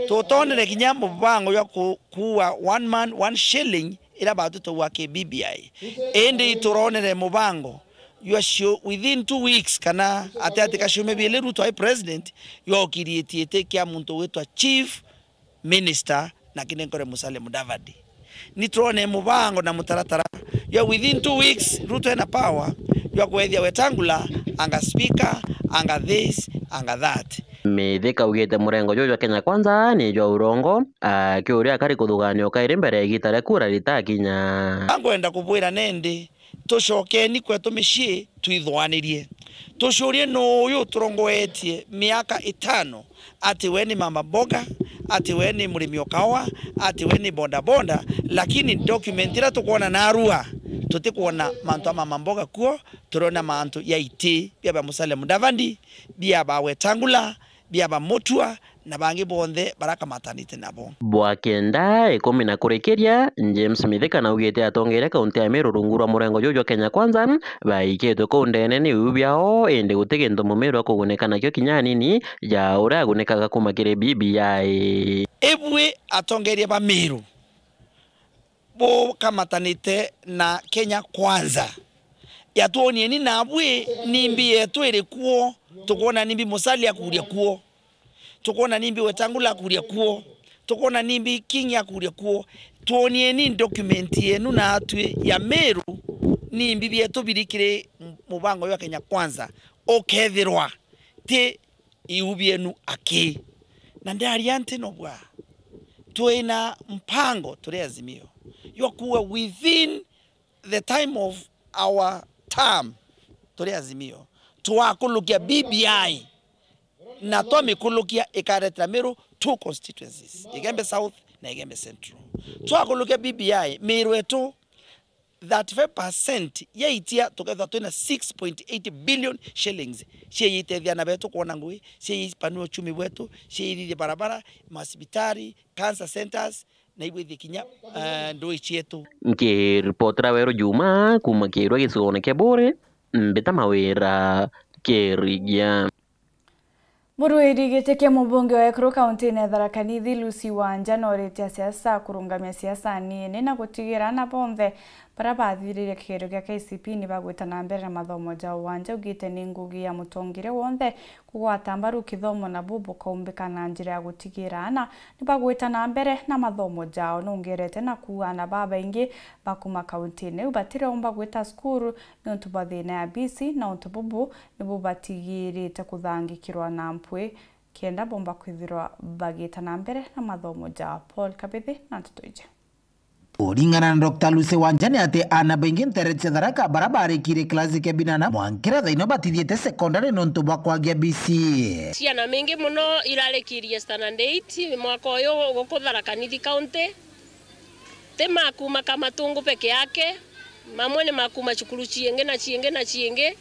Tutonere kinya mubango jwa ku-, kuua one man, one shilling ira batutagua ki B B I. Indi ituronere mubango jwa cio within two weeks kana ati ati kaciumia biili Ruto ai president, jwa ukiritie iti kia muntu witwa chief minister na kinenkore Musalia Mudavadi. Ni turone mubango na mutaratara jwa within two weeks Ruto ena power jwa kwethia Wetangula anga speaker, anga this, anga that. Mithika augite murengo juju jwa Kenya Kwanza ni jwa urongo, akiuria akari kuthugania ukairi mbere ya igita ria kura ritakinya. Angwenda kubwira nendi, tucokeni kwetu micii, twithuganirie. Tucurie nuu uyu uturongoetie miaka itano, ati we ni mama mboga, ati we ni murimi o kawa, ati we ni bodaboda, lakini document iria tukwona narua, tutikwona mantu a mama mboga kuo, turiona mantu ya iti bia ba Musalia Mudavadi, bia ba Wetangula, bia ba Mutua, na bangi bonthe barakamatanite nabo. Bwa kenda ikumi na kurikiria, James Mithika naugite atongeria kaunti ya Meru rungu rwa murengo juju jwa Kenya Kwanza baikitwe kuu ndene ni uu biao, indi guti gintu mumiru akugunika nakio kinya anini ja uria agunikaga kuma kiri B B I. Ibui atongeria ba Meru bukamatanite na Kenya Kwanza. Yatwonieni nabwi nimbi yetu iri kuo, tukwona nimbi Musalia akuria kuo, tukwona nimbi Wetangula akuria kuo, tukwona nimbi Kingi akuria kuo. Twonieni document yenu natwi ya Meru, nimbi bietu biri kiri mubango jwa Kenya Kwanza. Ukethirwa ti iu bienu aki. Na ndaria nti no bwa, twina mpango turi Azimio jwa kuuga within the time of our term turi Azimio, twakulukia B B I, na twamikulukia ikaretera Meru two constituencies, Igembe South na Igembe Central. Twakulukia B B I, Meru etu thirty-five percent ya itia tukethwa twina six point eight billion shillings cia itethia ana betu kwona ngui, cia ipanua uchumi bwetu, cia ithithia barabara, masibitari, cancer centers, na ibwithie kinya, eh, ndui cietu. Nkiripotera Weru Juma kuuma Kirwa gicigoone kia Buuri, Mbita Mawira, Kirigia. Murwiri giti kia mubunge wa ekuru kauntiine ya Tharaka Nithi, Lucy Wanja, nooritie asiasa kurungamia siasa nini na gutigira ana bonthe baria bathiririe kigerio gia K C P ni bagwita na mbere na mathomo jao. Wanja augite ni ngugi ya mutongeria wonthe kugwata mbaru kithomo, na buu bukaumbika na njira ya gutigira ana ni bagwita na mbere na mathomo jao. Nongerete na kuuga ana babaingi ba kuuma kauntiine iu batiriomba gwita cukuru niuntu bwa thiina ya bisi, na untu bubu nibu batigirite kuthangikirwa na mpwi kenda bomba kwithirwa bagiita na mbere na mathomo jao. Paul Kabithi na nteto iji. Kuringana na Doctor Lucy Wanja, ni ati aana baingi nteere cia Tharaka baria baarikire kilasi kia binana mwankira thaino batithiite sekondari niuntu bwa kwagia bisi. Ciana mingi mono irarikirie standard eight mwaka uyu guku Tharaka Nithi County. Ti ma kuuma Kamatungu peke yake, mamwe ni ma kuuma cukuru ciingi na ciingi na ciingi,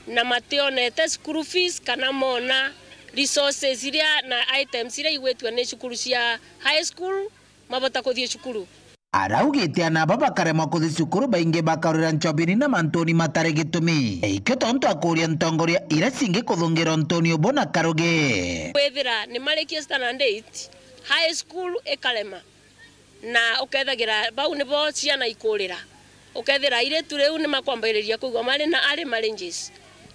na mationete school fees kana moona resources iria na items iria igwitue ni cukuru cia high school mabota kuthii cukuru. Araugite ana aba bakaremwa kuthi cukuru, baingi bakarwira ncobini na mantuni matari gitumi, ikio tontu akuria ntongoria iria cingi kuthungira untuni ubu na karugi. Kwithira ni marikie standard eight, high school ikarema. Na ukethagira bau nibo ciana ikurira. Ukethira airitu riu ni makwambiriria kwigua mari na early marriages.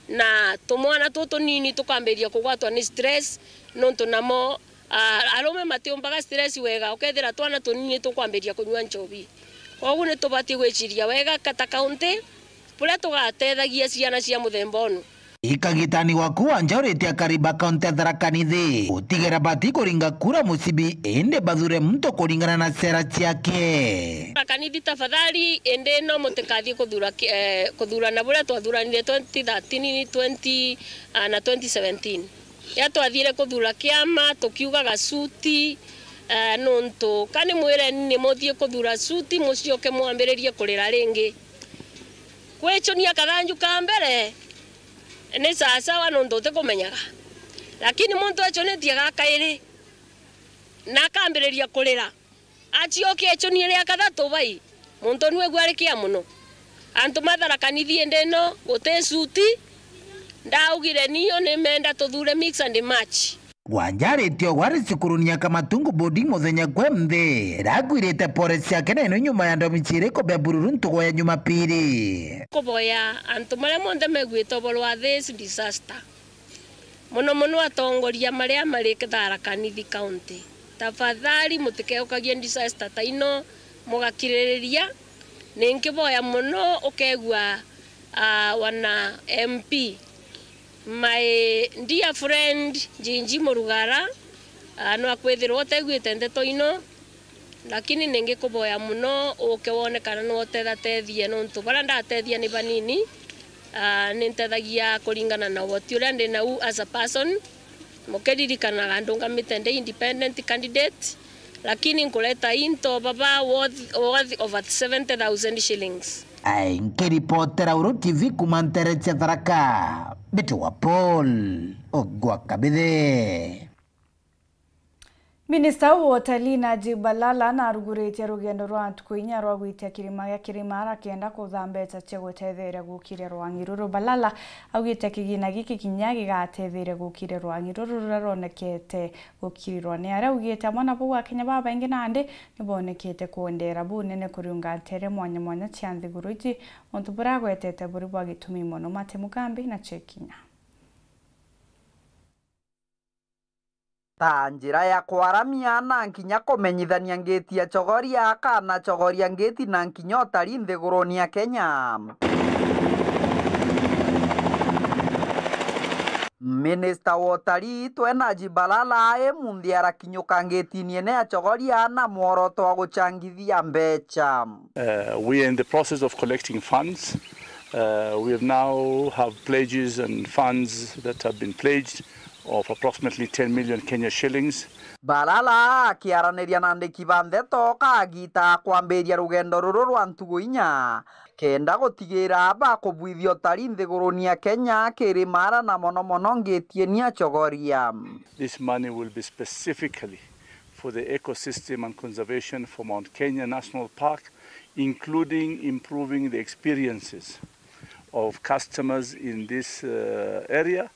Na tumwana tutu tunini tukambiriria kugwatwa ni stress, nontu namo, ah, arume matiumbaga stress wega. Ukethira twana tunini tukwambiriria kunyua nchobi. Kwogu ni tubatie gwiciria wega kata kaunti, buria tugatethagia ciana cia muthemba unu. Ikagitani gwaku Wanja uritie akari ba kaunti ya Tharaka Nithi gutigera bati kuringa kura mucibi, indi bathure muntu kuringana na sera ciake. Tharaka Nithi tafadhali, indi no mutikathie kuthura ki-, eh, kuthurana buria twathuranire twenty thirteen, twenty, ah, na twenty seventeen. Riria twathire kuthura kiama, tukiugaga suti, eh, nuntu ka ni mwireni ni muthie kuthura suti, mucioke mwambiririe kurira ringi. Kwichunia kathanju ka mbere ni sawasawa nuntu utikumenyaga. Lakini muntu echunitie ga kairi, na akambiriria kurira, aciokia echunie ria kathatu bai, muntu nu egua ari kia mono. Antu ma Tharaka Nithi indi ino guti suti, ndaugire niyo ni menda tuthure mix and match. Wanja aritie ugwari cukuruni ya Kamatungu Boarding muthenya kwe nthi, iria agwirite pore ciake na ino nyuma ya ndomi ciiri kubea bururu ntugo ya Jumapili. Kuboya antu maria monthe meguite uboro wa this disaster, mono mono atongoria maria mari Tharaka Nithi County, tafadhali mutikeukagie disaster ta ino mugakiririria. Ninkiboya mono ukegua, ah, wana M P, my dear friend Njinji Murugara, ah, no akwithirwa uteguite ndeto ino, lakini ningikuboya mono uke wone kana no utethatethie, nontu baria ndatethia ni banini. Ah, nintethagia kuringana na uhoti uria ndi nau as a person. Mukiririkanaga ndungamite ndi independent candidate, lakini nkureta into baba worth, worth over seventy thousand shillings. Ai, nkiripotera Uru T V kuma ntere cia Tharaka, mbitagwa Paul Ogwa Kabithe. Minista wa utalii Najib Balala naruguritie rugendo rwa ntuku inya rwa gwitia kirima gia Kirimara kenda kutha mbeca cia gutetheria gukiria rwang'i ruru. Balala augite kigina giki kinya gigatetheria gukiria rwang'i ruru ruria rwonekete gukirirwa ni aria. Augite amwe na bau, Akenya babaingi nandi nibonekete kwendera bunene kuriunga ntere mwanya mwanya cia nthiguru iji, untu buria agwetete buri bwa gitumi mono. Mate Mugambi na Chekinya. Ta njira ya kwaramia na nkinya kumenyithania ngiti ya Chogoria kana Chogoria ngiti na nkinya utari nthiguruni ya Kenya. Mi- Minista wa utalii Twena Jibalala imunthi arakinyuka ngitini ene ya Chogoria na mworoto wa guchangithia mbecha. Uh, we are in the process of collecting funds. Uh, we have now have pledges and funds that have been pledged of approximately ten million Kenya shillings. Balala akiaraniria na andiki ba ndeto kagita kwambiria rugendo ruru rwa ntugu inya, kenda gutigira bakubwithia utalii nthiguruni ya Kenya kiri mara na mono mono ngitieni ya Chogoria. This money will be specifically for the ecosystem and conservation for Mount Kenya National Park, including improving the experiences of customers in this, uh, area,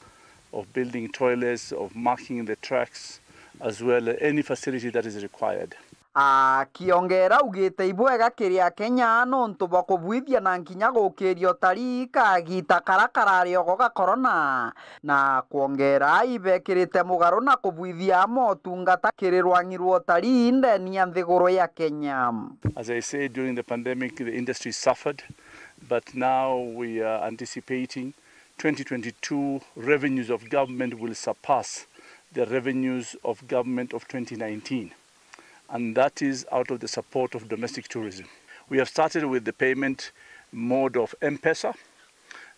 of building toilets, of marking the tracks, as well as any facility that is required. Akiongera augite ibwega kiri Akenya nontu bwa kubwithia na nkinya gukiria utalii kagita kara karari ogo ga corona, na kwongera ibekirite mugaru na kubwithia motungata kiri rwang'i rwa utalii ndeni ya nthiguru ya Kenya. As I said, during the pandemic, the industry suffered, but now we are anticipating twenty twenty-two revenues of government will surpass the revenues of government of twenty nineteen. And that is out of the support of domestic tourism. We have started with the payment mode of M-Pesa,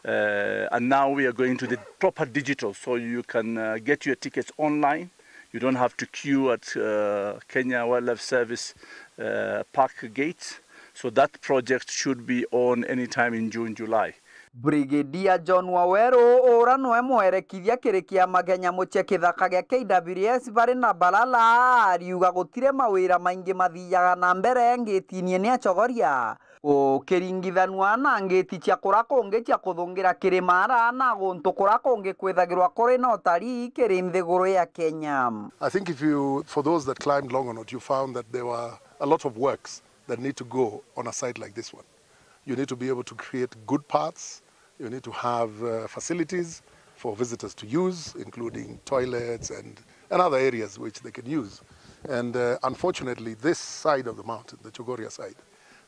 uh, and now we are going to the proper digital, so you can, uh, get your tickets online. You don't have to queue at, uh, Kenya Wildlife Service, uh, park gates. So that project should be on anytime in June, July. Brigadier John Waweru, ura nwe mwerekithia kiri kiama kia nyamu cia kithaka gia K W S bari na Balala, ariuga gutire mawira maingi mathiaga na mbere ngitini ene ya Chogoria, ukiringithanua na ngiti cia kura kungi cia kuthungira kiri mara na guntu kura kungi kwithagirwa kuri na utalii kiri nthiguru ya Kenya. I think if you, for those that climbed Longonot, you found that there were a lot of works that need to go on a site like this one. You need to be able to create good paths. You need to have, uh, facilities for visitors to use, including toilets and, and other areas which they can use. And, uh, unfortunately, this side of the mountain, the Chogoria side,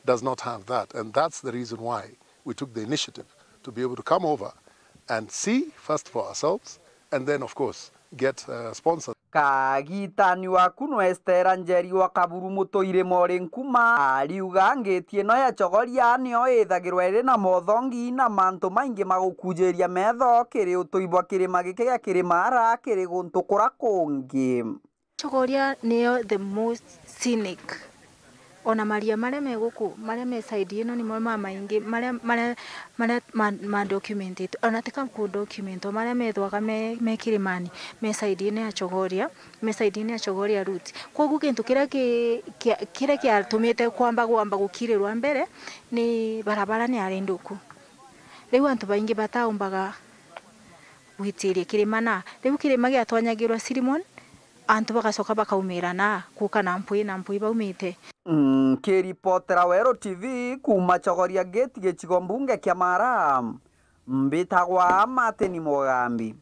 does not have that. And that's the reason why we took the initiative to be able to come over and see first for ourselves, and then, of course, get, uh, sponsors. Kagitani waku no Estera Njeri wa Kaburu Mutuire Mori Nkuma, ariuga ngiti ino ya Chogoria nio ithagirwa iri na mothongi na mantu maingi ma gukujiria metho kiri utui bwa kirima giki gia Kirimara kiri guntu kura kungi. Chogoria niyo the most scenic. Ona maria maria me guku, maria me side ino nimo mamaingi, maria, maria, maria ma, ma documented. Ona tika ku document, maria methwaga me, me kirimani, me side ino ya Chogoria, me side ino ya Chogoria route. Koguo gintu kiria ki, kia, kiria kiatumite kwamba, kwamba gukirirwa mbere ni barabara ni ari nthuku. Riu antu baingi bataumbaga gwitiria kirima na. Riu kirima giatwanyagirwa Sirimon, antu bagacoka bakaumira na kuka na mpwi na mpwi baumite. Nkiripotera Weru T V kuuma Chogoria Gate, gicigo mbunge kia Mara, mbitagwa Martin Mugambi.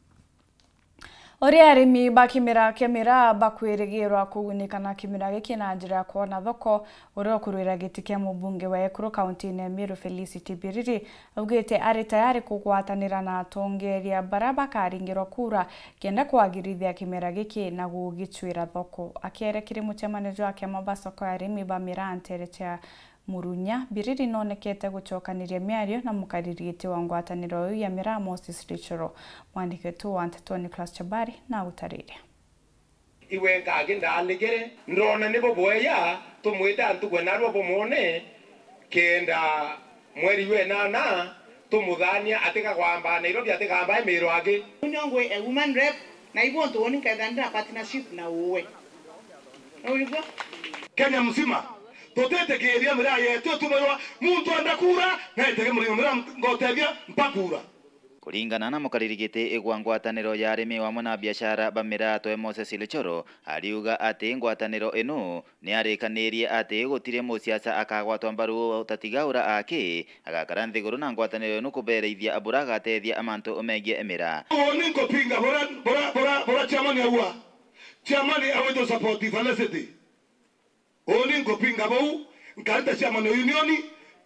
Uria arimi ba kimera kia miraa bakwirigirwa kugunika na kimera giki na njira ya kwona thoko, uria ukurwira giti kia mubunge wa Ekuru kaunti-ini ya Meru Felicity Biriri augite ari tayari kugwatanira na atongeria baria bakaringirwa kura kenda kwagirithia kimera giki na gugicwira thoko. Akiaria kiri mucemanio jwa kiama ba soko ya arimi ba miraa ntere cia Murunya, Biriri nonekete gucokaniria miario na mukariri giti wa ngwataniro iu ya miraa Moses Richoro. Mwandiki wetu wa nteto Nicholas Chabari na agutariria. Iwe nkagi ndaaligire, ndoona ni bubweya tumwite antu gwe narua bumwone, kenda mweri wa inana tumuthaania atigagwamba Nairobi, atigamba e Meru angi. Uni ongwe a woman rep, na ibu untu uni nkethira ndina partnership na uwe. Nurigwa? Kenya mzima, tutitikiria miraa yetu itumirwa muntu enda kura, na etege murimo miraa ngotethia mpa kura. Kuringana na mukariri giti gwa ngwataniro ya arimi wamwe na biashara ba miraa twe Moses Lichoro, ariuga ati ngwataniro inu ni arikanirie ati gutiri musiasa akagwatwa mbaru utatigaura aki agakara nthiguru na ngwataniro inu kubereithia bura agatethia amantu megie miraa. Uuni nkupinga bura, bura, bura, bura chairman aua. Chairman awite support Felicity. Uuni nkupinga bau, nkarita chairman union,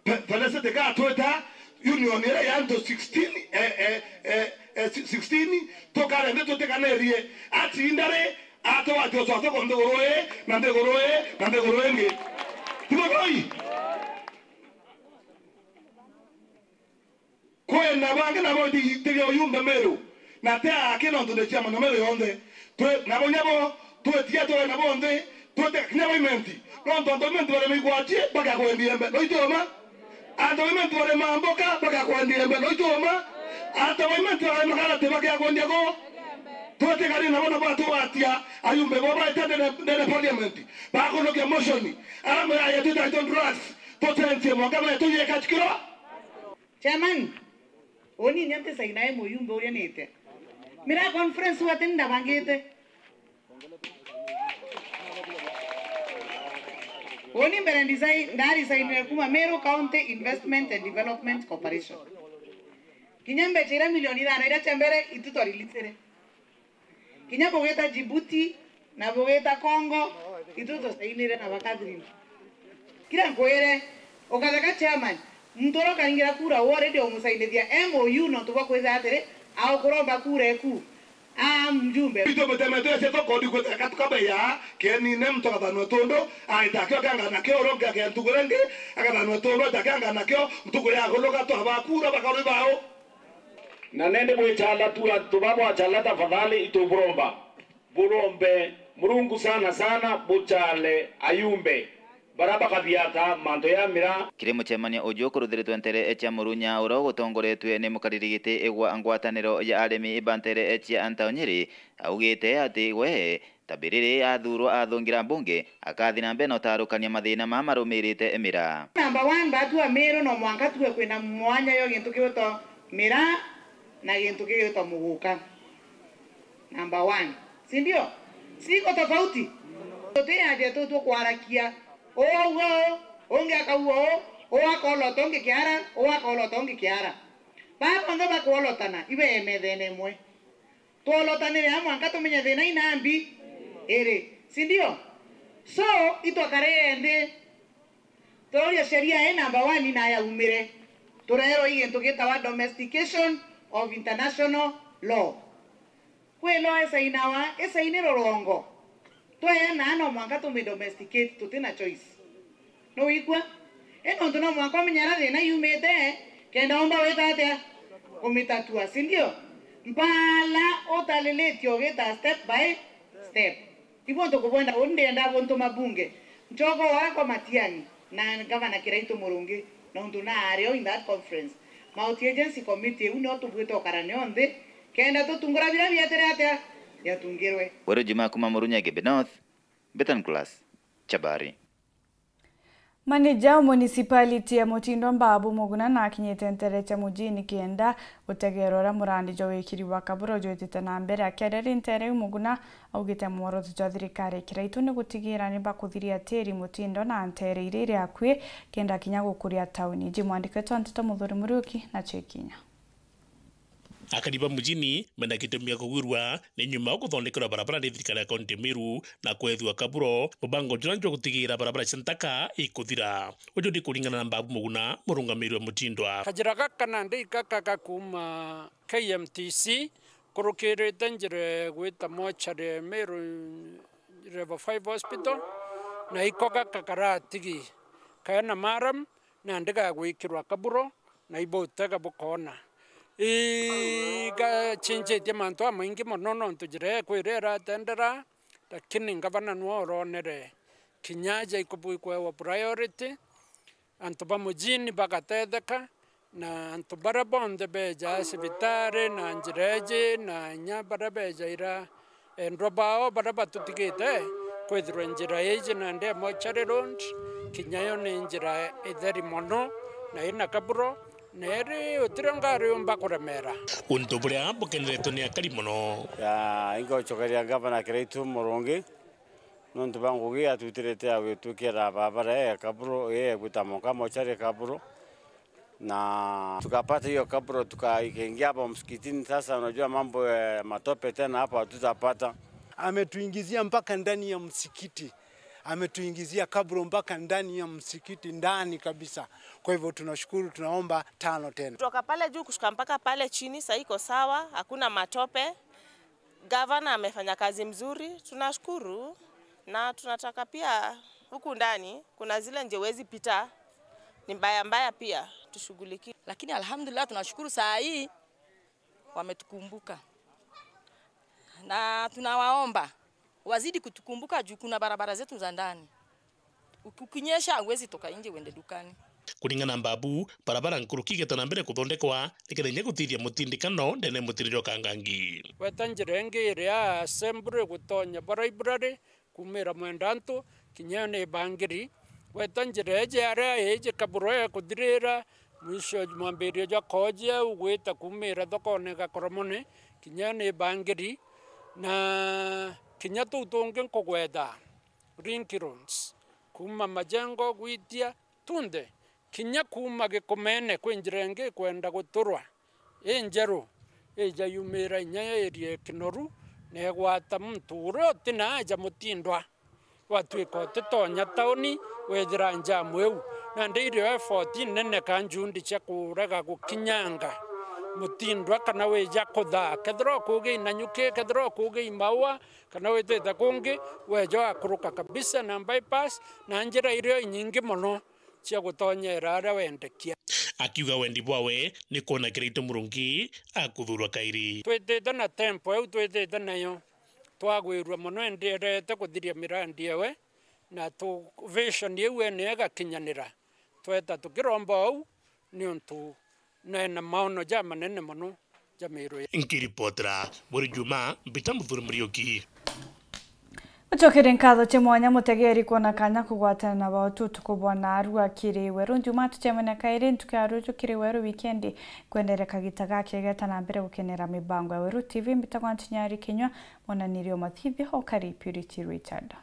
Fe-, Felicity gatwita union iria ya antu sixteen, eh, eh, eh, eh, si-, sixteen, tukare nthi tutikanirie. Atinda ri, atugwatia ucwacwa kwa nthiguru ii, na nthiguru ii, na nthiguru ingi. Ti buthui? Kwina bangi nabo itigia uyumbe Meru, na ti aki nontu ni ciama na Meru yonthe. Twi-, nabo nyabo twitiga twe nabo nthi, twite kinya Waimenti. Nontu antu Waimenti bari migwati bakakwendia embe, no ituma? Antu Waimenti bari mamboka bakakwendia embe, no ituma? Antu Waimenti bari makarati bakakwendia ku? Twitigari nabo nabo atugwatia ayumbe bo baite ndene, ndene parliament. Bakunukia motion. Aramwira yetu title drugs. Tucenjie mwanka betu yeka chikiro. Chairman, uni inya ntisaina e muyumbe uria nite. Mira conference wati ndabangite. Uni mbere ndisai-, ndarisainire kuma Meru County Investment and Development Corporation. Kinya mbecha iria milioni ithano iria cia mbere itu twarilichire. Kinya bugita Djibouti na bugita Congo, itu tusainire na ba Catherine. Kira nkwire, ukatheka chairman, muntu uria ukaringira kura u already umusainithia M O U nontu bwa kwithira atiri, aukuromba kura eku, a mjumbe. Itu muteme twese tokodi kwithira katuka beya, kenine muntu akathanwa tundu, aita kio kangana kio uronge akia ntuku ringi, akathanwa tundu, aita kangana kio ntuku ya kuluga twaba kura bakarwi bao. Na nende bwicala tu antu ba bwacala tafadhali ituburomba. Burombe Murungu sana sana buchale ayumbe. Bara bakathiata mantu ya mira. Kiri mucemanio uju ukuruthiritwe ntere cia Murunya uria ugutongoretue ni mukariri giti igwa ngwataniro ya arimi ba ntere cia Antao Nyeri, augite ati we Tabiriri athurwa athungira mbunge, akathi na mbere na utarukania mathina maa marumirite miraa. Number one, batu a Meru no mwanka tuwe kwina mwanya yo gintu giwitwa miraa na gintu giwitwa muguka. Number one. Si ndio? Siko tofauti. Tutiaje tu tukwarakia. Uu auga uu, ungi akauga uu, uu akolota ungi kiara, uu akolota ungi kiara. Baa bonthe bakwolotana, ibe methene imwe. Twolotanire a mwanka tumenye thina ina mbi iri, si ndio? So, itwakare nthi, turia sheria ii number one na yaumire, turerwa i gintu gitawa domestication of international law. Kwi law isainawa, isaini rurongo. Tweana no mwanka tumidomesticate, tutina choice. Nuwigua? I nontu no mwanka umenye aria thina yumite, kenda umba wita atia kumitatua, si ndio? Mpala utalilitie ugita step by step. Ibu ntukukwenda, uni ndienda buntuma bunge. Nchogo wakwa Matiang'i na Gavana Kiraitu Murungi, nontu naario in that conference. Multi agency committee iu nio tubuite ukarane onthe, kenda tutungura biria bietire atia biatungirwe. Weru Juma kuma Murunya Igembe North, Betan Class, Chabari. Maneja o municipality ya Mutindo Mbabu Muguna nakinyite ntere cia mujini kenda gutegeera uria murandi jwa wikiri wa kaburo jwitite na mbere. Akiaria ri ntere iu, Muguna augite mworoto jwa thirikari ya Kiraitu ni gutigiira ni bakuthiria tiri Mutindo na ntere iria iri akui kenda kinya gukuria tauni. Ji mwandiki wetu wa nteto Muthuri Muriuki na cio ikinya. Akari ba mujini mena gitumi gia kugwirua ni nyuma wa kuthondekerwa barabara ni thirikari ya kaunti ya Meru na kwethua kaburo, mubango juna jwa gutigiira barabara cia ntaka ikuthira. Uju ni kuringana na Mbabu Muguna, murungamiri wa Mutindwa. Kajira gaka nandi gaka ga kuuma K M T C, kurukirite njira igwita mochari Meru Level five Hospital, na iko gaka karatigi kena maram, nandi gagwikirwa kaburo, na ibutega bukoona. Igachinjitie mantu amaingi mono, nontu njira ikwira iratendera, lakini ngavana nwe uronere kinya aja ikubui kwewa priority, antu ba mujini bagatetheka, na antu baria bonthe beja cibitari na njira iji, na inya baria bejaira endwa bao baria batutigite kwithirwa njira iji nandi ya Mochari Road, kinya yo ni njira itheri mono na ina kaburo, na iri utiri ngari yumba kuremera. Untu buria bukeneretwe ni akari mono. Ya, ingocokeria Ngavana Kiraitu Murungi, nontu bwa ngugi atutirite ya gwitwikira barabara ya kaburo, ya gwita Moka Mochari kaburo. Na tukapata hiyo kabro, tuka-, ikaingia hapo msikitini. Sasa unajua mambo ya matope tena hapo hatutapata. Ametuingizia mpaka ndani ya msikiti. Ametuingizia kabro mpaka ndani ya msikiti, ndani kabisa. Kwa hivyo tunashukuru, tunaomba tano tena. Kutoka pale juu kushuka mpaka pale chini, sasa iko sawa, hakuna matope. Gavana amefanya kazi mzuri, tunashukuru, na tunataka pia huku ndani kuna zile nje huwezi pita, ni mbaya mbaya pia, tushughulikie. Lakini alhamdulillah, tunashukuru saa hii wametukumbuka. Na tunawaomba wazidi kutukumbuka juu kuna barabara zetu za ndani. Uki-, ukinyesha, huwezi toka nje uende dukani. Kuringana na Mbabu, barabara nkuruki igeeta na mbere kuthondekwa, nikenda inya gutithia mutindikano ndene mutirire o Kangangi. Gweta njira ingi iria Assembly gutonya ba library, kumira Mwendantu kinya ni Bangiri. Gweta njira iji aria iji kaburo ekuthirira, mwisho mwambirio jwa Kooji au gwita kumira thokone Gakoromone kinya ni Bangiri, na kinya tuu tungi nkugweta link roads, kuma Majengo gwitia tunthe, kinya kuma Gikomene kwi njira ingi ikwenda guturwa injeru, ija yumira inya ya area Kinoru, na igwata muntu uria utina aja Mutindwa. Watwika utitonya tauni, wethira njamu iu. Nandi irio effort nene ka njundi cia kurega gukinyanga Mutindwa kana wija kuthaa. Kethira ukugi i Nanyuki, kethira ukugi i Maua, kana witite kungi, weja wakuruka kabisa na bypass, na njira irio inyingi mono cia gutonyera aria wendekia. Akiuga wendi bwawe ni kwona Kiraitu Murungi akuthurwa kairi. Twitite na tempo iu twitite nayo, twagwirua mono, enderete kuthiria mirandi ewe, na tu-, vision iu ene igakinyanira. Tweta tukiromba ou, niuntu nena maono jamanene mono ja Miru. Nkiripotera buri Juma, Mbita Muthuri Muriuki. Ucokere nkatho cia mwanya mutegeri kwona kanya kugwatana na bao tutuku bwa narua kiri Weru Juma. Tucemania kairi ntuku ya ruju kiri Weru wikendi. Kwendere kagita gakegeta na mbere gukenera mibango ya Weru T V, mbitagwa Ntinyari Kinyua, monanirio mathithio o kari Purity Richard.